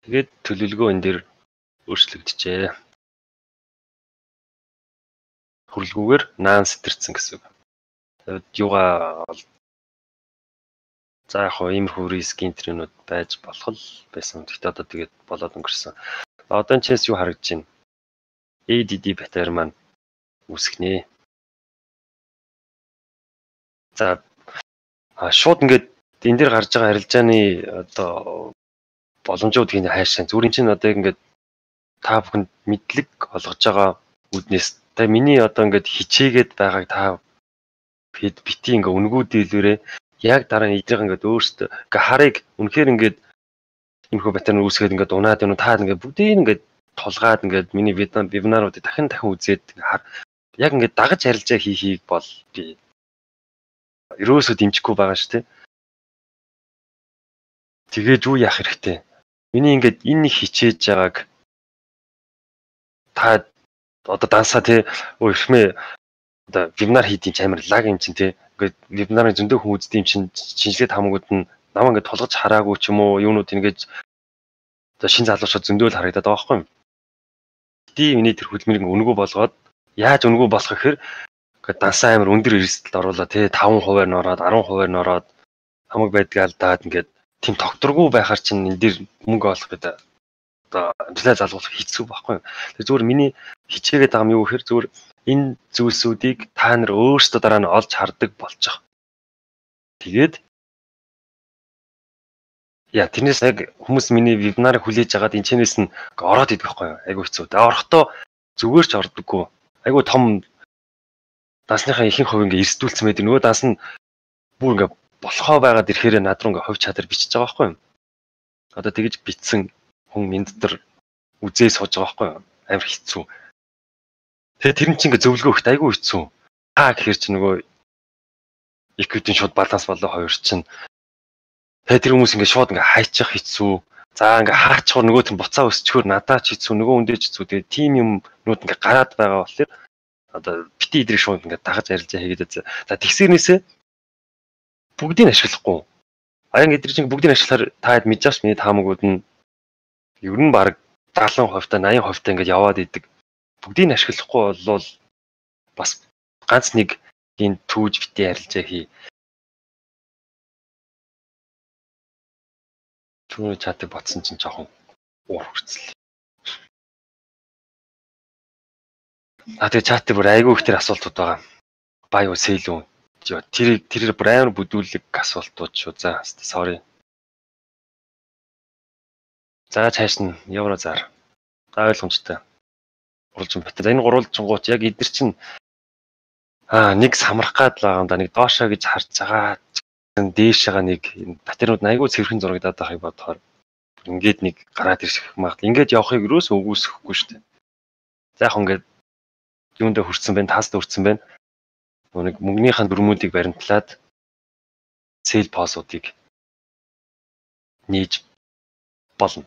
Тэгээд төлөвлөгөө энэ дэр өөрчлөгдөжээ. Хүрлгүүгээр наан сэтэрсэн гэсэн үг. Тэгээд юугаа за яг хоо иймэрхүү риск интернүүд байж болох л байсан. Гэхдээ одоо тэгээд болоод өнгөрсөн. Одоо энэ чээс юу харагдаж байна? эй ди ди паттерн маань үүсгэнэ. За шууд ингээд энэ дэр гарч байгаа арилжааны одоо боломжуудыг хайшаа. Зүгээр чинь одоо ингээд та бүхэнд мэдлэг олгож байгаа үднэс та миний одоо ингээд хичээгээд байгааг та бити ингээ үнгүү дийлвэрээ яг дараа нь эдрийг ингээд өөртөө ингээ харыг үнэхээр ингээд иймэрхүү паттерн үүсгээд ингээд унаад юм та ингээд бүгдийг ингээд тулгаад ингээд миний вебинаруудыг дахин дахин үзээд яг ингээд дагаж арилжаа хийхийг бол би ерөөсөө дэмжихгүй байгаа шүү дээ. Тэгээд юу яах хэрэгтэй? Миний ингээд энэ нэг хичээж байгааг та одоо дансаа тий өө ихмээ одоо вебинар хийдیں۔ Амар лаг юм чинь тий. Ингээд вебинарын зөндөө хүн үздэг юм чинь шинжилгээ хамгууд нь намаа ингээд тулгаж хараагүй ч юм уу юунууд ингээд одоо шин залуучууд зөндөө л харагдаад байгаа байхгүй юм. Тий миний тэр хөдөлмөрийг өнгөө болгоод яаж өнгөө болох гэхээр ингээд дансаа амар өндөр эрсдэлд оруулаад тий таван хувиар нь ороод арван хувиар нь ороод хамаг байдгаа алдаад ингээд тийм тогтворгүй байхаар чинь энэ дэр мөнгө олох гэдэг одоо амжилтаа залгуулах хэцүү байхгүй юу. Тэр зүгээр миний хичээгээд байгаа юм юу гэхээр зүгээр энэ зүйлсүүдийг та нар өөрсдөө дараа нь олж хардаг болж байгаа. Тэгээд яа тэрнээс яг хүмүүс миний вебинарыг хүлээж агаад энэ чэнэс нь ороод идэх байхгүй юу. Айгу хэцүү. Тэгээ орохдоо зүгээр ч ордоггүй. Айгу том дансныхаа ихэнх хувь ингээ эрсдүүлсэн байдаг. Нөгөө данс нь бүр ингээ болохоо байгаад ирэхээр над руу ингээ хувь чадар бичиж байгаа байхгүй юу. Одоо тэгэж бичсэн хүн минь дотор үзээ сууж байгаа байхгүй юу. Амар хэцүү. Тэгээ тэр нь чинь ингээ зөвлөгөө өгт айгүй хэцүү. Хаа гэхэр чи нөгөө иквитийн шууд баланс болоо хоёр чинь. Тэгээ тэр хүмүүс ингээ шууд ингээ хайчих хэцүү. За ингээ хаачихвар нөгөө тэр буцаа өсчгөр надаа ч хэцүү, нөгөө үндэ ч хэцүү. Тэгээ тим юмнууд ингээ гараад байгаа болохоор одоо бити идрийг шууд ингээ дагаж арилжаа хийгээд. За тэгсэрнээсээ бүгдийг ашиглахгүй. Аян эдгээр чинь бүгдийг ашиглахаар таад мэдээж миний таамагуд нь ер нь баг дагалан хувьтай восемь хувьтай ингээд яваад идэг. Бүгдийг ашиглахгүй болвол бас ганц нэг энэ түүж бити арилжаа хий. Түүний чатыг ботсон чинь жоохон уур хүрцэл. А тэгээ чатыг бүр айгүй их тэр асуултууд байгаа. Бай уу сэл үү? Тэр тэр бүр амар бүдүүлэг асуултууд шүү. За sorry. За цааш нь евро зар. За ойлгомжтой. Гурвалжин бат. За энэ гурвалжингууд яг эдгэр чинь аа нэг самрах гад л байгаа юм да. Нэг доошоо гэж харж байгаа. Дээшээгаа нэг батарейуд айгүй цэвэрхэн зурагдаад байхыг бодохоор ингээд нэг гараад ирэх магадгүй. Ингээд явахыг юус өгөөсөхгүй шүү дээ. За яг ингээд юундаа хүрсэн байна, тааст хүрсэн байна. Нэг мөнгөнийхээ дүрмүүдийг баримтлаад сел позуудыг нээж болно.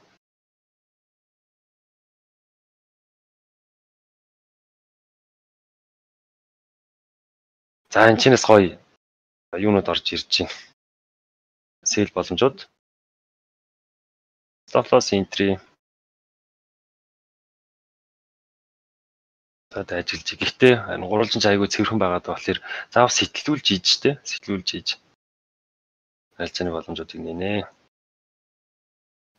За энэ чинээс гоё юунууд орж ирж байна. Сел боломжууд. Stop loss entry. Одоо ажиллаж. Гэхдээ энэ гурвалжин ч айгүй цэвэрхэн байгаад болохоор заав сэтэлүүлж ийж штэ. Сэтэлүүлж ийж. Арилжааны боломжуудыг нэнэ.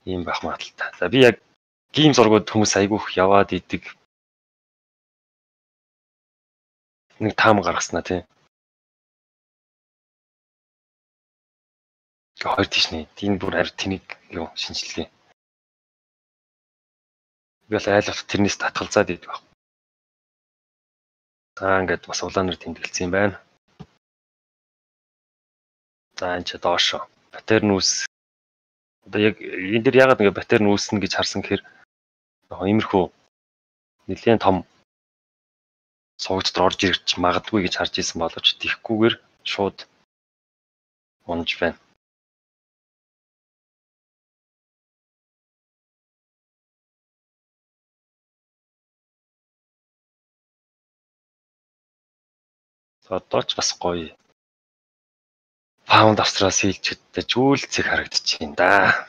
Ийм байх магадaltaй. За би яг гейм зургууд хүмүүс айгүйх яваад идэг. Нэг таам гаргаснаа тий. Хоёр тийш нэ. Энэ бүр арь тэнийг юу шинжилгээ. Би бол айлгал тэрнээс татгалзаад идэг баг. За ингээд бас улаанаар тэмдэглэсэн юм байна. За энэ ч доошо. Батарей нүүс. Одоо яг энэ дэр ягаад ингээд батарей нүүснэ гэж харсан гэхээр яг иймэрхүү нэлээд том суугч дотор орж ирж магадгүй гэж харж исэн боловч тийхгүйгээр шууд унж байна. Одоо ч бас гоё. Паунд австралиас хилчэдтэй жүүл цэг харагдчих юм да.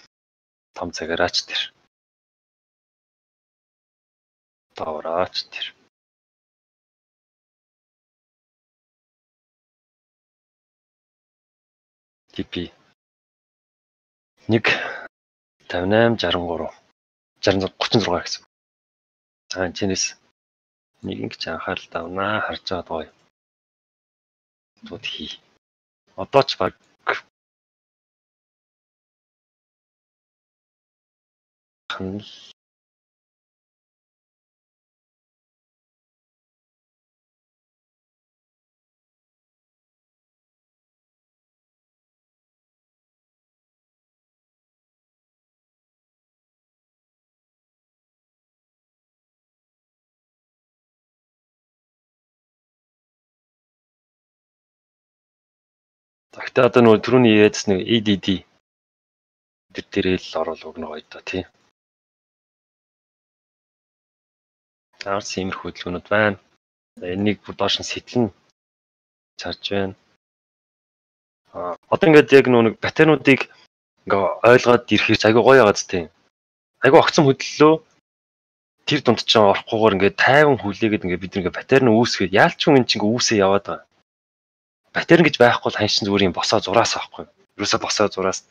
Том цагаараач тэр. Доораач тэр. Типи. нэг тавьж восемь шестьдесят три. шестьдесят тридцать шесть гэсэн. За энэ чинээс нэг ингэж анхаарал тавнаа харж байгаа гоё. Тууд хий. Одоо ч баг хан Гэхдээ одоо нөгөө түрүүний яриадс нэг и ди ди тэр дээрээ л оруулах өгнө гоё доо тий. Таарс иймэрхүү хөдөлгөөнүүд байна. Энийг бүр доош нь сэтэлнэ чарж байна. Аа одоо ингээд яг нөгөө нэг батарейнуудыг ингээ ойлгоод ирэхээр айгүй гоё яагаад тий. Айгүй огцом хөдлөлөө тэр дунд ч орохгүйгээр ингээ тайван хүлээгээд ингээ бид ингээ батарейн үүсгээд яалч хүн эн чинь үүсээ яваад байгаа. Батарей гэж байхгүй бол хань чин зүгээр юм босоо зураас байхгүй. Юусаа босоо зураас.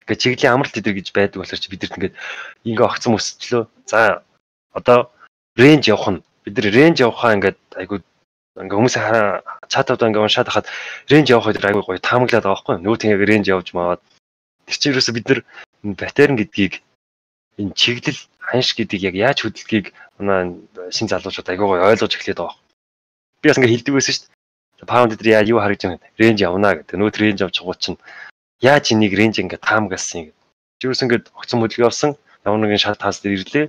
Ингээ чиглийн амралт идэр гэж байдаг болохоор чи бидэрт ингээ ингээ огцом өсчлөө. За одоо рейнж явах нь бид нар рейнж явахаа ингээд айгүй ингээ хүмүүс чатууд ингээ уншаад хахад рейнж явах гэдэг айгүй гоё таамаглаад байгаа байхгүй. Нөгөө тийм яг рейнж явж маваад тэр чинь юусаа бид нар батарей гэдгийг энэ чиглэл ханш гэдгийг яг яаж хөдөлгөхийг манай шин залуучууд айгүй гоё ойлгож эхлэhed байгаа. Би бас ингээ хэлдэг байсан шүү дээ. Паунд дээр яа юу харагдж байгаа юм рейнж явна гэдэг. Нөөд рейнж авч байгаа чинь яаж энийг рейнж ингээд таамагласан юм. Жирүүс ингээд огцом хөдөлгөөн авсан ямар нэгэн шат таас дээр ирлээ.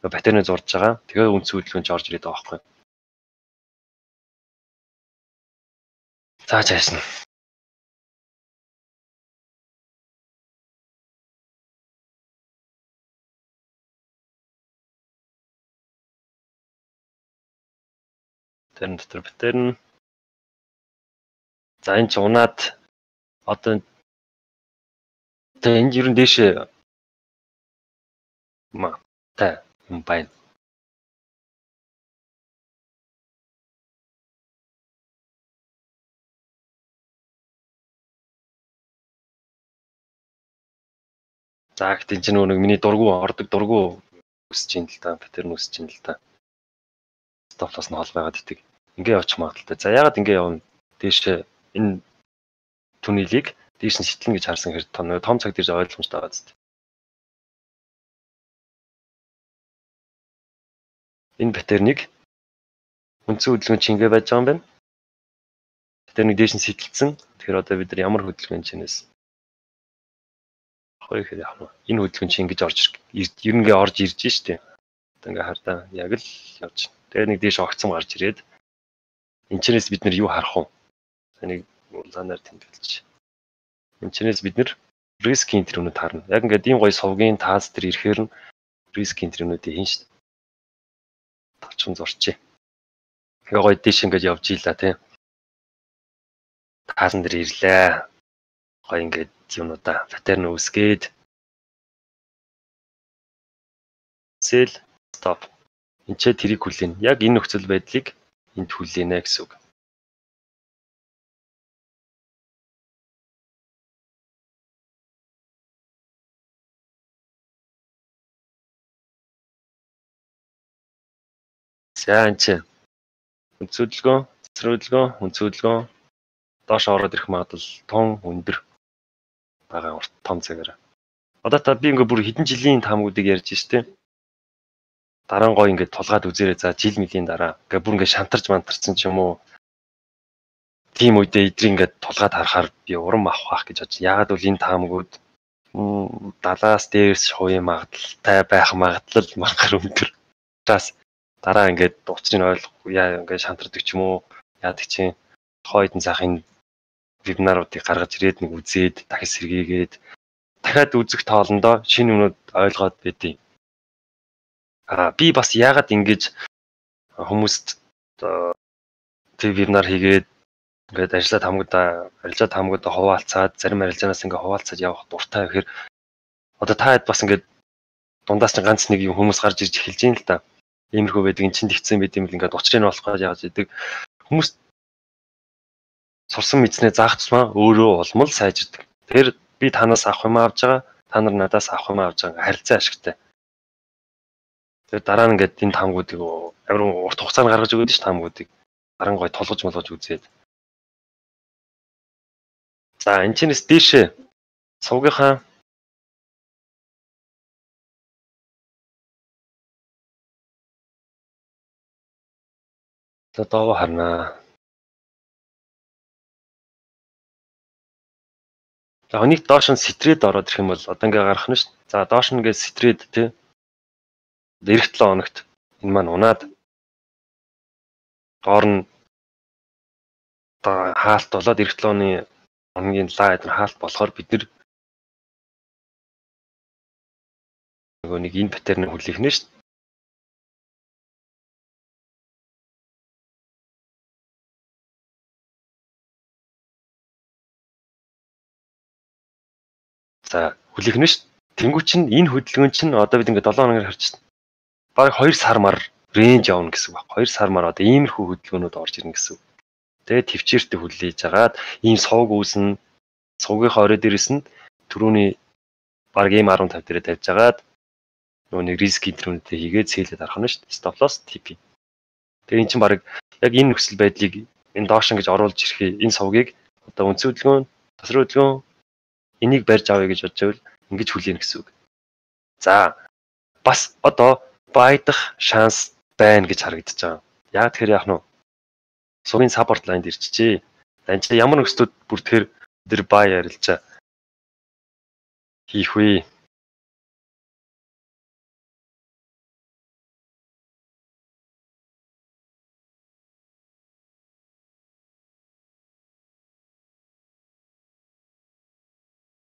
Батарейн зурж байгаа. Тэгээ үнц хөдөлгөөнч орж ирээд байгаа байхгүй. За чаашна. Тэр дотор батарей. За энэ ч унаад одоо тэг энэ ер нь дээшээ ма та юм байна. За гэхдээ чинь нэг миний дургу ордог дургу өсөж ин л та паттерн өсөж ин л та. Stop loss нь хол байгаад идэг. Ингээ явчих магадaltaй. За ягаад ингээ явна? Дээш энэ түнэлийг дээш нь шитлэн гэж харсан хэрэг том том цаг дээрж ойлгомжтой байгаа зү. Энэ паттернийг үндсэн хөдөлгөөн чи ингээ байж байгаа юм байна. Паттернийг дээш нь сэтэлсэн. Тэгэхээр одоо бид нар ямар хөдөлгөөн чинээс хоёр ихээр яах вэ? Энэ хөдөлгөөн чи ингэж орж ер нь ингээ орж ирж штэ. Одоо ингээ хардаа яг л явж. Тэгээ нэг дээш огцом гарч ирээд энэчнээс бид нар юу харах вэ? Энийг улаанаар тэмдэглэж. Энэчнээс бид нар рискийн тэрүүнүүд харна. Яг ингээд ийм гоё сувгийн таас дээр ирэхээр нь рискийн тэрүүнүүдийг хийн штэ. Тавчхан зурчээ. Тэгээ гоё дээш ингээд явж ийлаа тий. Таасан дээр ирлээ. Гоё ингээд юмудаа паттерн үүсгээд sell stop энчээ тэрийг хүлээн. Яг энэ нөхцөл байдлыг энд хүлээнэ гэсэн үг. За энэ үнцөдлгөө, цэцрүүлгөө, үнцөдлгөө доош ороод ирэх магадлал тун өндөр байгаа урт том цагаараа. Одоо та би ингээ бүр хэдэн жилийн таамгуудыг ярьж штэ. Дараа нь гоё ингээд тулгаад үзээрэй. За жил мөлийн дараа ингээ бүр ингээ шантарч мантарсан ч юм уу. Тийм үедээ эдрийг ингээд тулгаад харахаар би урам авах гэж бодож. Яагаад бол энэ таамгууд далаас дээрс шууя магадaltaй байх магадлал мангар өндөр. Таас дараа ингээд учрыг ойлгохгүй яа ингээд шантардаг ч юм уу. Яадаг чинь хойдон цаахын вебинаруудыг гаргаж ирээд нэг үзээд дахиж сэргийгээд дахиад үзэх тоолондоо шинэ юмнууд ойлгоод байдیں۔ Аа би бас яагаад ингэж хүмүүст тэг вебинар хийгээд ингээд ажиллаад хамгуудаа арилжаад хамгуудаа хуваалцаад зарим арилжаанаас ингээд хуваалцаад явах дуртай гэхээр одоо та хэд бас ингээд дундаас ч ганц нэг юм хүмүүс гарч ирж эхэлж юм л та. Иймэрхүү байдаг эн чинь тэгсэн байт юм л ингээд учрыг нь болохгүй яаж идэг хүмүүс сурсан мэдснээ заах тусмаа өөрөө улмал сайжирдаг. Тэр би танаас авах юм авж байгаа, та нар надаас авах юм авж байгаа харилцаа ашигтай. Тэр дараа нь ингээд энэ таамгуудыг амар урт хугацаанд гаргаж өгöd ш таамгуудыг харан гой толгож молгож үзээд. За энэ чинээс дээшээ сувгийнхаа за доо харнаа. За хүнийг доош нь сэтрээд ороод ирэх юм бол одоо ингээ гарах нь ш. За доош нь ингээ сэтрээд тий. Ирэх долоо хоногт энэ маань унаад доор нь одоо хаалт болоод ирэх долоо оны хоногийн лайд нь хаалт болохоор бид нар нөгөө нэг энэ паттерныг хүлээх нэ ш. За хүлээх нь ш. Тэнгүү чинь энэ хөдөлгөөн чинь одоо бид ингээ долоо хоногоор харж байна. Бараг хоёр сар мар рейнж явна гэсэн үг. хоёр сар мар одоо иймэрхүү хөдөлгөөнүүд орж ирнэ гэсэн үг. Тэгээ төвчээртэй хүлээж агаад ийм сувг үүснэ. Сувгийнхаа орой дээрээс нь түрүүний бараг ийм арван тавь дээрээ тавьж агаад нөгөө нэг риск интернетээ хийгээд сэлээд арах нь ш. Stop loss ти пи. Тэгээ эн чинь бараг яг энэ нөхцөл байдлыг энэ доош ингэж оруулж ирэхээ энэ сувгийг одоо үндсэн хөдөлгөөн, тасрын хөдөлгөөн энийг барьж авъя гэж бодож байвал ингэж хүлээнэ гэсэн үг. За бас одоо байдах шанс байна гэж харагдаж байгаа. Яа тэгэхээр яах нь вэ? Сувгийн саппорт лайнд ирчихжээ. Энд чинь ямар нөхцөлд бүр тэгэхээр тэр бай арилжаа хийх вэ?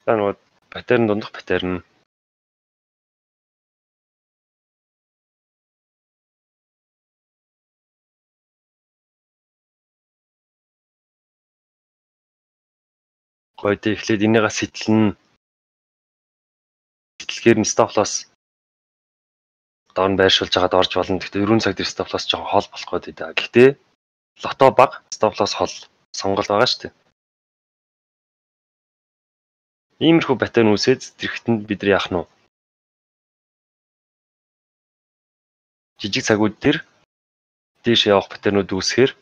За нөгөө паттерн дундах паттерн гойд эхлээд энийгээ сэтэлнэ. Сэтэлгээр нь stop loss доор нь байршуулж хагаад орж болно. Гэхдээ ерөн цаг дээр stop loss жоохон хол болох гээд байна. Гэхдээ лото баг stop loss хол сонголт байгаа шүү дээ. Иймэрхүү паттерн үүсээд зэрэгтэнд бид нар яах нь вэ? Жижиг цагууд дээр дээш явах паттернууд үүсэхээр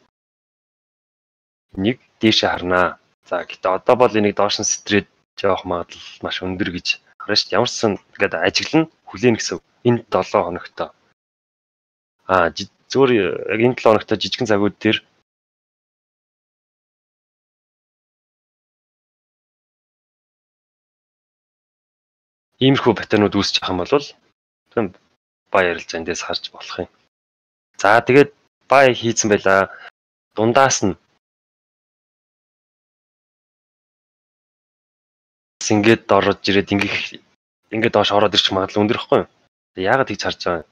нэг дээшээ харнаа. За гэхдээ одоо бол энийг доош нь стрейт явах магадлал маш өндөр гэж харна шүү дээ. Ямарсан ингээд ажиглан хүлээн гэсэн. Энэ долоо хоногтой. Аа зүгээр яг энэ долоо хоногтой жижигэн цагууд дээр иймэрхүү паттернууд үүсэж байгаа юм бол тийм бай ярилж эндээс харж болох юм. За тэгээд бай хийцэн байла. Дундаас нь ингээд орж ирээд ингэх ингээд доош ороод ирчих магадлал өндөр ихгүй юу? Яагаад тэгж харж байгаа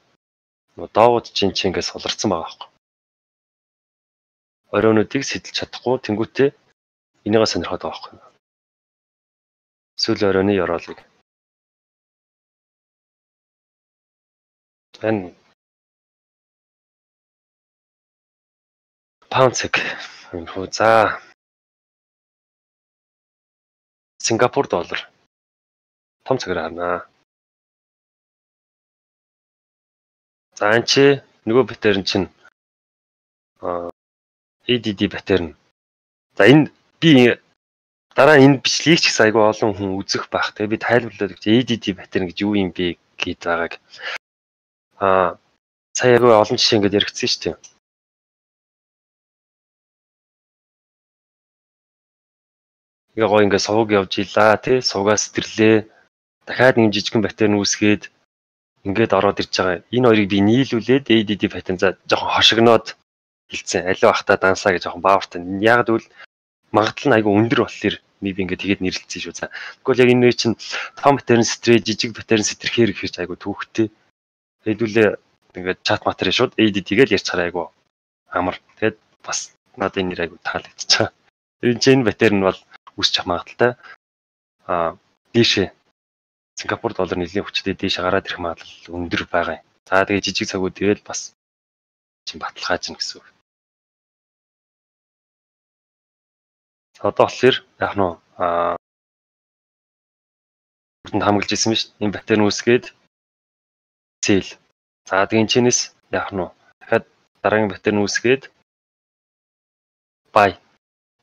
юм? Доогууд чинь чи ингээд суларцсан байгаа байхгүй. Оройнуудыг сэтэлж чадахгүй тэнгуүтээ энийгээ сонирхоод байгаа байхгүй. Сүүл оройны ёроолыг. Энэ паунд цэг юм хөө за Сингапур доллар том цагаар харнаа. За энэ чи нөгөө паттерн чинь эй ди ди паттерн. За энэ би дараа энэ бичлэгийг ч гэсэн айгүй олон хүн үзэх байх. Тэгээ би тайлбарлаад өгч эй ди ди паттерн гэж юу юм бэ гэд байгааг. Аа сая айгүй олон жишээ ингээд яригдсан шүү дээ. Яг гоо ингээд сувг явж илаа тий сувгаа сэтэрлээ. Дахиад нэг жижигэн паттерн үүсгээд ингээд ороод ирж байгаа. Энэ хоёрыг би нийлүүлээд эй ди ди паттерн за жоохон хошигноод хэлсэн. Алив ахта дансаа гэж жоохон баавартай. Яг л магадлал нь айгүй өндөр болохоор би ингээд тэгээд нэрлэлцсэн шүү. За тэгвэл яг энэ чинь том паттерн стрей жижиг паттерн сэтэрхээр гэхэрч айгүй түүхтэй. Хэдүүлээ ингээд чат материал шууд эй ди ди гэж ярьцгаар айгүй амар. Тэгээд бас надад энэ нэр айгүй таалагдчихаа. Энэ чинь паттерн бол үсчих магадaltaй. Аа дээшээ Сингапур доллар нэлийн хүчтэй дээшээ гараад ирэх магадлал өндөр байгаа юм. За тэгээ жижиг цагууд ирээд бас чинь баталгааж гин гэсэн үг. Одоо болохоор яг нь аа бүрдэнд хамгаалж ирсэн биз. Энэ паттерн үүсгээд цэл. За тэгээ энэчнээс яг нь дахиад дараагийн паттерн үүсгээд бай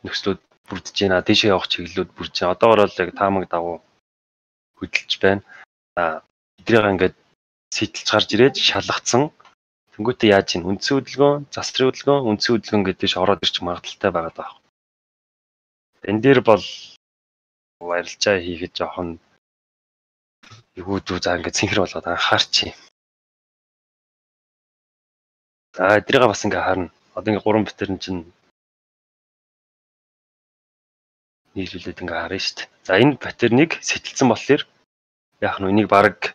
нөхцлүүд бүрдэж байна. Дээшээ явах чиглэлүүд бүрдэж байна. Одоогоор л яг таамаг дагуу хөдөлж байна. За эдрийг ингээд сэтэлж гарч ирээд шалгацсан. Тэнгүүтээ яаж ийн үндсэн хөдөлгөөн, засрын хөдөлгөөн, үндсэн хөдөлгөөн гэдэж ороод ирчих магадaltaй байгаа даа. Энэ дээр бол арилжаа хийхэд жоохон эгүүдүү за ингээд цэнхэр болоод анхаарчи. За эдрийг бас ингээд харна. Одоо ингээд гурван паттерн чинь нийлүүлээд ингээд харна шүү дээ. За энэ паттерныг сэтэлсэн болохоор яг нь энийг баг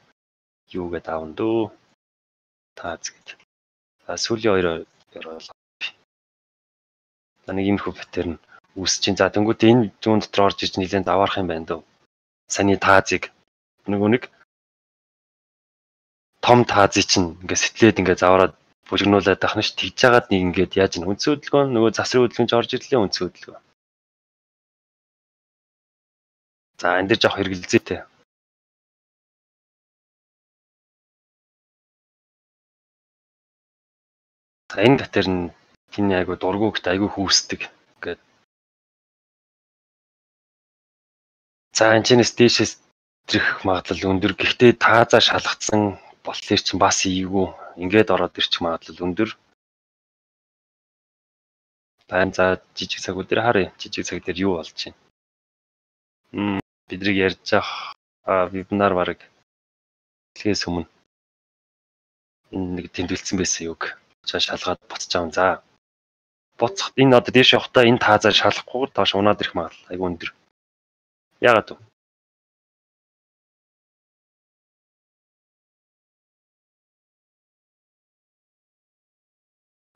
юу гэдээ аавн дөө. Таац гэж. За сүүлийн хоёр ёроол. За нэг иймэрхүү паттерн үүсэж чинь. За тэнгуүтээ энэ зүүн дотор орж иж нэлээд даваарах юм байна дөө. Саний таазыг нөгөө нэг том таазыг чинь ингээд сэтлээд ингээд завраад бүжигнуулаад байх нь ш тэгж жагаад нэг ингээд яаж ин үндсэн хөдөлгөөн нөгөө засрын хөдөлгөөнч орж ирлээ үндсэн хөдөлгөөн. За энэ дэр жоох хэрэгэлзээтэй. За энэ паттерн хиний айгу дургуugт айгу хүүсдэг ингээд. За энэчнээс дээшээс ирэх магадлал өндөр. Гэхдээ таазаа шалгацсан болохоор чинь бас ийгүү ингээд ороод ирчих магадлал өндөр. Байн за жижиг цагууд дээр харъя. Жижиг цаг дээр юу болж байна? Мм бидрийг ярьж ах вебинар бараг хэлхээс өмнө энэ нэг тэмдэглэсэн байсан юг чаа шалгаад буцаж аав. За буцах энэ одоо дээш явахдаа энэ таазаа шалахгүй доош унаад ирэх магадлал айгу өндөр. Яагаад вэ?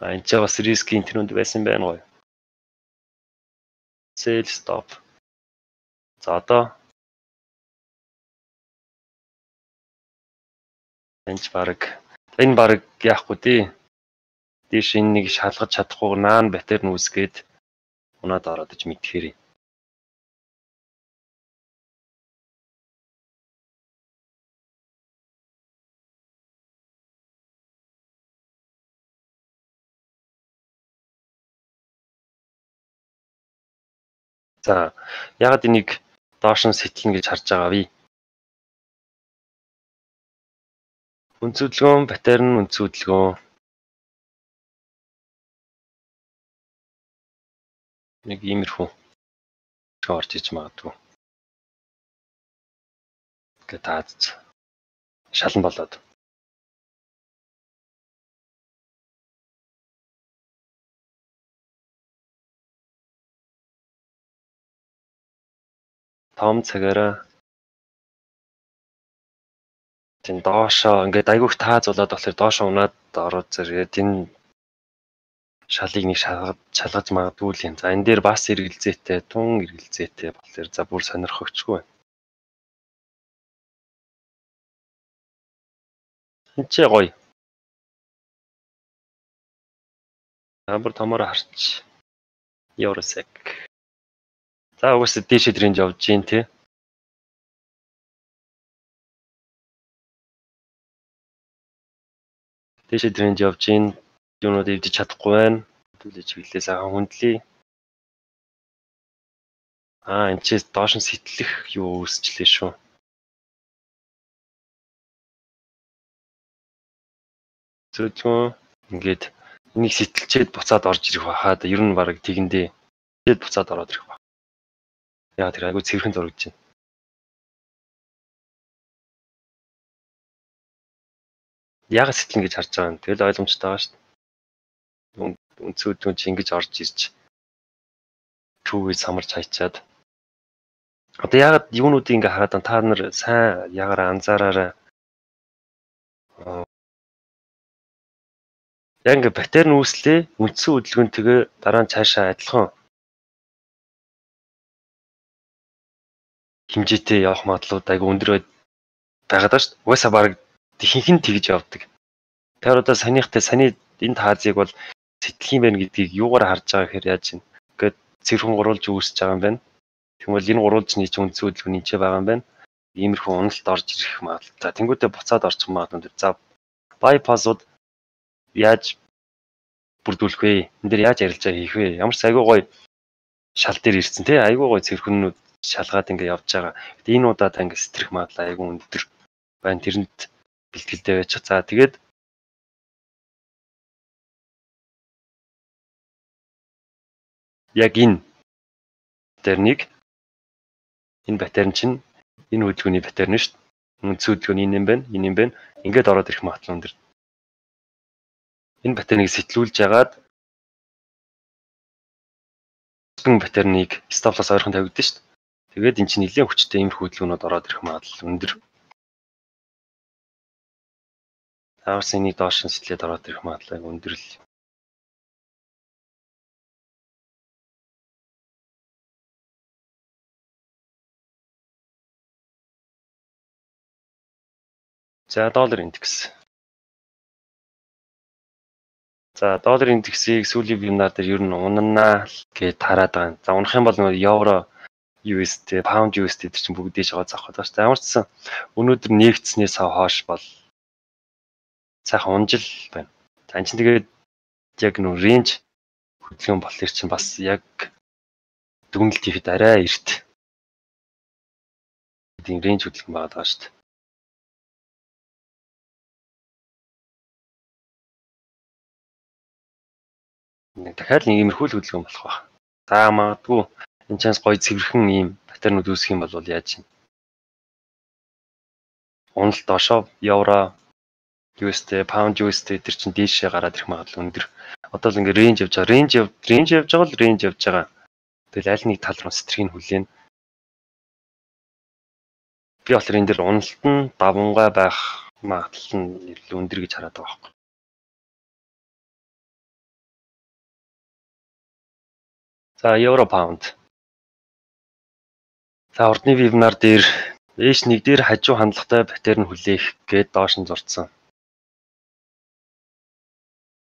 А энэ ч бас риск интернет байсан байна гоё. Sell stop. За одоо энэ ч баг энэ баг яахгүй тий. Дээш энэ нэг шалгаж чадахгүй наан паттерн үүсгээд унаад ороод иж мэдхээр юм. За ягаад энийг доош нь сэтэлнэ гэж харж байгаа вэ? Үндсөдлгөөн, паттерн үндсөдлгөөн. Нэг иймэрхүү орж иж магадгүй. Ингээд таац. Шалан болоод. Том цагаараа тэн доошоо ингээд айгүйх тааз болоод болохоор доошоо унаад ороод зэрэг энэ шалыг нэг шалгаж шалгаж магадгүй л юм. За энэ дээр бас эргэлзээтэй, тун эргэлзээтэй болохоор за бүр сонирхогчгүй байна. Энд ч гоё. Амар томоор харч. Евросек. За угсаа дээшээ рейнж явж гин тий. Дээшээ рейнж явж гин. Юунууд эвдэж чадахгүй байна. Түлээ чиглэлээ сайхан хүндлээ. Аа энэ ч доош нь сэтлэх юу үүсчлээ шүү. Зөвхөн ингээд энийг сэтэлчээд буцаад орж ирэх бахаа. Ер нь баг тэгэндээ тэгээд буцаад ороод ирэх баг. Яа тэр айгу цэвэрхэн зурагч байна. Яга сэтгэн гэж харж байгаа юм. Тэгэл ойлгомжтой байгаа шүү дээ. Үнцүүдэн чи ингэж орж ирж түүгээс самарч хайчаад. Одоо ягаад юунуудыг ингээ хараад та нар сайн ягараа анзаараарай. Яг ингээ паттерн үүслээ үндсэн хөдөлгөөнтэйгээ дараа нь цаашаа адилхан хэмжээтэй явах магадлалууд айгу өндөр байгаад байна шүү дээ. Угаасаа баг ихэнх нь тэгж явдаг. Тэр одоо санийхтай саний энэ таазыг бол сэтгэх юм байна гэдгийг юугаар харж байгаа гэхээр яаж юм. Ингээд цэвэрхэн гурвалж үүсэж байгаа юм байна. Тэгвэл энэ гурвалжны чинь үндсэн хөдөлгөөний ч байгаа юм байна. Иймэрхүү уналт орж ирэх магадлал. За тэнгуүтээ буцаад орчих магадлал. За байпасууд яаж бүрдүүлэх вэ? Энд дээр яаж ярилцаа хийх вэ? Ямар ч айгүй гоё шал дээр ирсэн тий. Айгүй гоё цэвэрхэнүүд шалгаад ингээ явж байгаа. Гэтэ энэ удаад ингээ сэтрэх магадлал айгүй өндөр байна. Тэрэнд бэлтгэлтэй байж. За тэгээд яг энэ паттерныг энэ паттерн чинь энэ хөдөлгөөний паттерн шүү дээ. Үндсэн хөдөлгөөний энэ юм байна, энэ юм байна. Ингээд ороод ирэх магадлал өндөр. Энэ паттерныг сэтлүүлж ягаад энэ паттерныг стоп-лосс ойрхон тавигдсан шүү дээ. Тэгээд эн чинь нэлээд хүчтэй иймэрхүү хөдөлгөөнүүд ороод ирэх магадлал өндөр. Таавс энийг доош нь сэтлээд ороод ирэх магадлал өндөр л. За доллар индекс. За доллар индексийг сүүлийн вебинар дээр ер нь унанаа гэж хараад байгаа. За унах юм бол нөгөө евро ю эс ди, pound ю эс ди чинь бүгдээ шаваа заах гэдэг байна. Ямар ч сан өнөөдөр нэгдснээс хойш бол сайхан унжил байна. За энэ чинь тэгээд яг нөө рейнж хөдөлгөөн болохоор чинь бас яг дүгнэлт хийхэд арай эрт. Тийм рейнж хөдөлгөөн байгаа шүү дээ. Дахиад нэг иймэрхүү хөдөлгөөн болох ба. За магадгүй энэ чанс гоё цэвэрхэн ийм паттернууд үүсэх юм бол яаж юм. Уналт доошоо евро ю эс ди, pound ю эс ди тэр чинь дээшээ гараад ирэх магадлал өндөр. Одоо л ингээ рейнж явж байгаа. Рейнж яв рейнж явж байгаа л рейнж явж байгаа. Тэгэл аль нэг тал руу сэтрхийг хүлээн. Би болохоор энэ дэр уналт нь давмгай байх магадлал нь илүү өндөр гэж хараад байгаа байхгүй. За евро паунд. За урдны вебинар дээр эш нэг дээр хажуу хандлагатай паттерн хүлээх гээд доош нь зурцсан.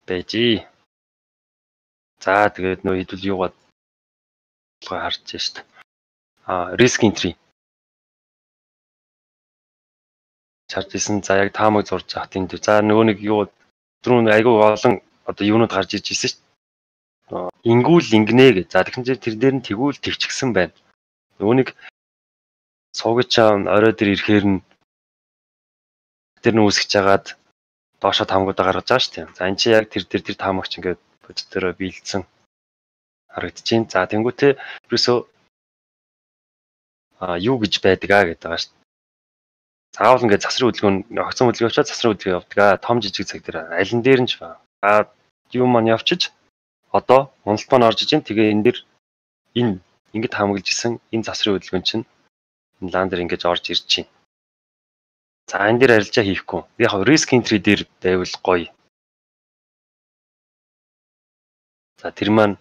Бэжи. За тэгээд нөө хэдүүл юугаад харж шít. А risk entry. Чартсэн за яг таамаг зурж хат энэ. За нөгөө нэг юу түрүүн айгүй олон одоо юунууд гарч ирж ирсэн шít. ингүүл ингэнэ гэж. За тэгсэн чинь тэр дээр нь тэгүүл тэгчихсэн байна. Үүнийг суугч орой дээр ирэхээр нь тэр нь үүсгэж хагаад доошо таамагуудаа гаргаж байгаа шүү дээ. За энэ чи яг тэр тэр тэр таамагч ингээд бодит дээр биелдсэн харагдчихээн. За тэнгуүтээ ерөөсөө а юу гэж байдаг аа гэдэг байгаа шүү дээ. Заавал ингээд засрын хөдөлгөөн огцон хөдөлгөөн очоод засрын хөдөлгөөн явдаг аа. Том жижиг цаг дээр аль нь дээр нь ч ба. А юу маань явчиж одоо уналт маань орж ижин тэгээ энэ дэр энэ ингээд таамаглаж исэн энэ засрын хөдөлгөөн чинь энэ лан дээр ингэж орж ирж чинь. За энэ дээр арилжаа хийхгүй. Яг risk entry дээр байвал гоё. За тэр маань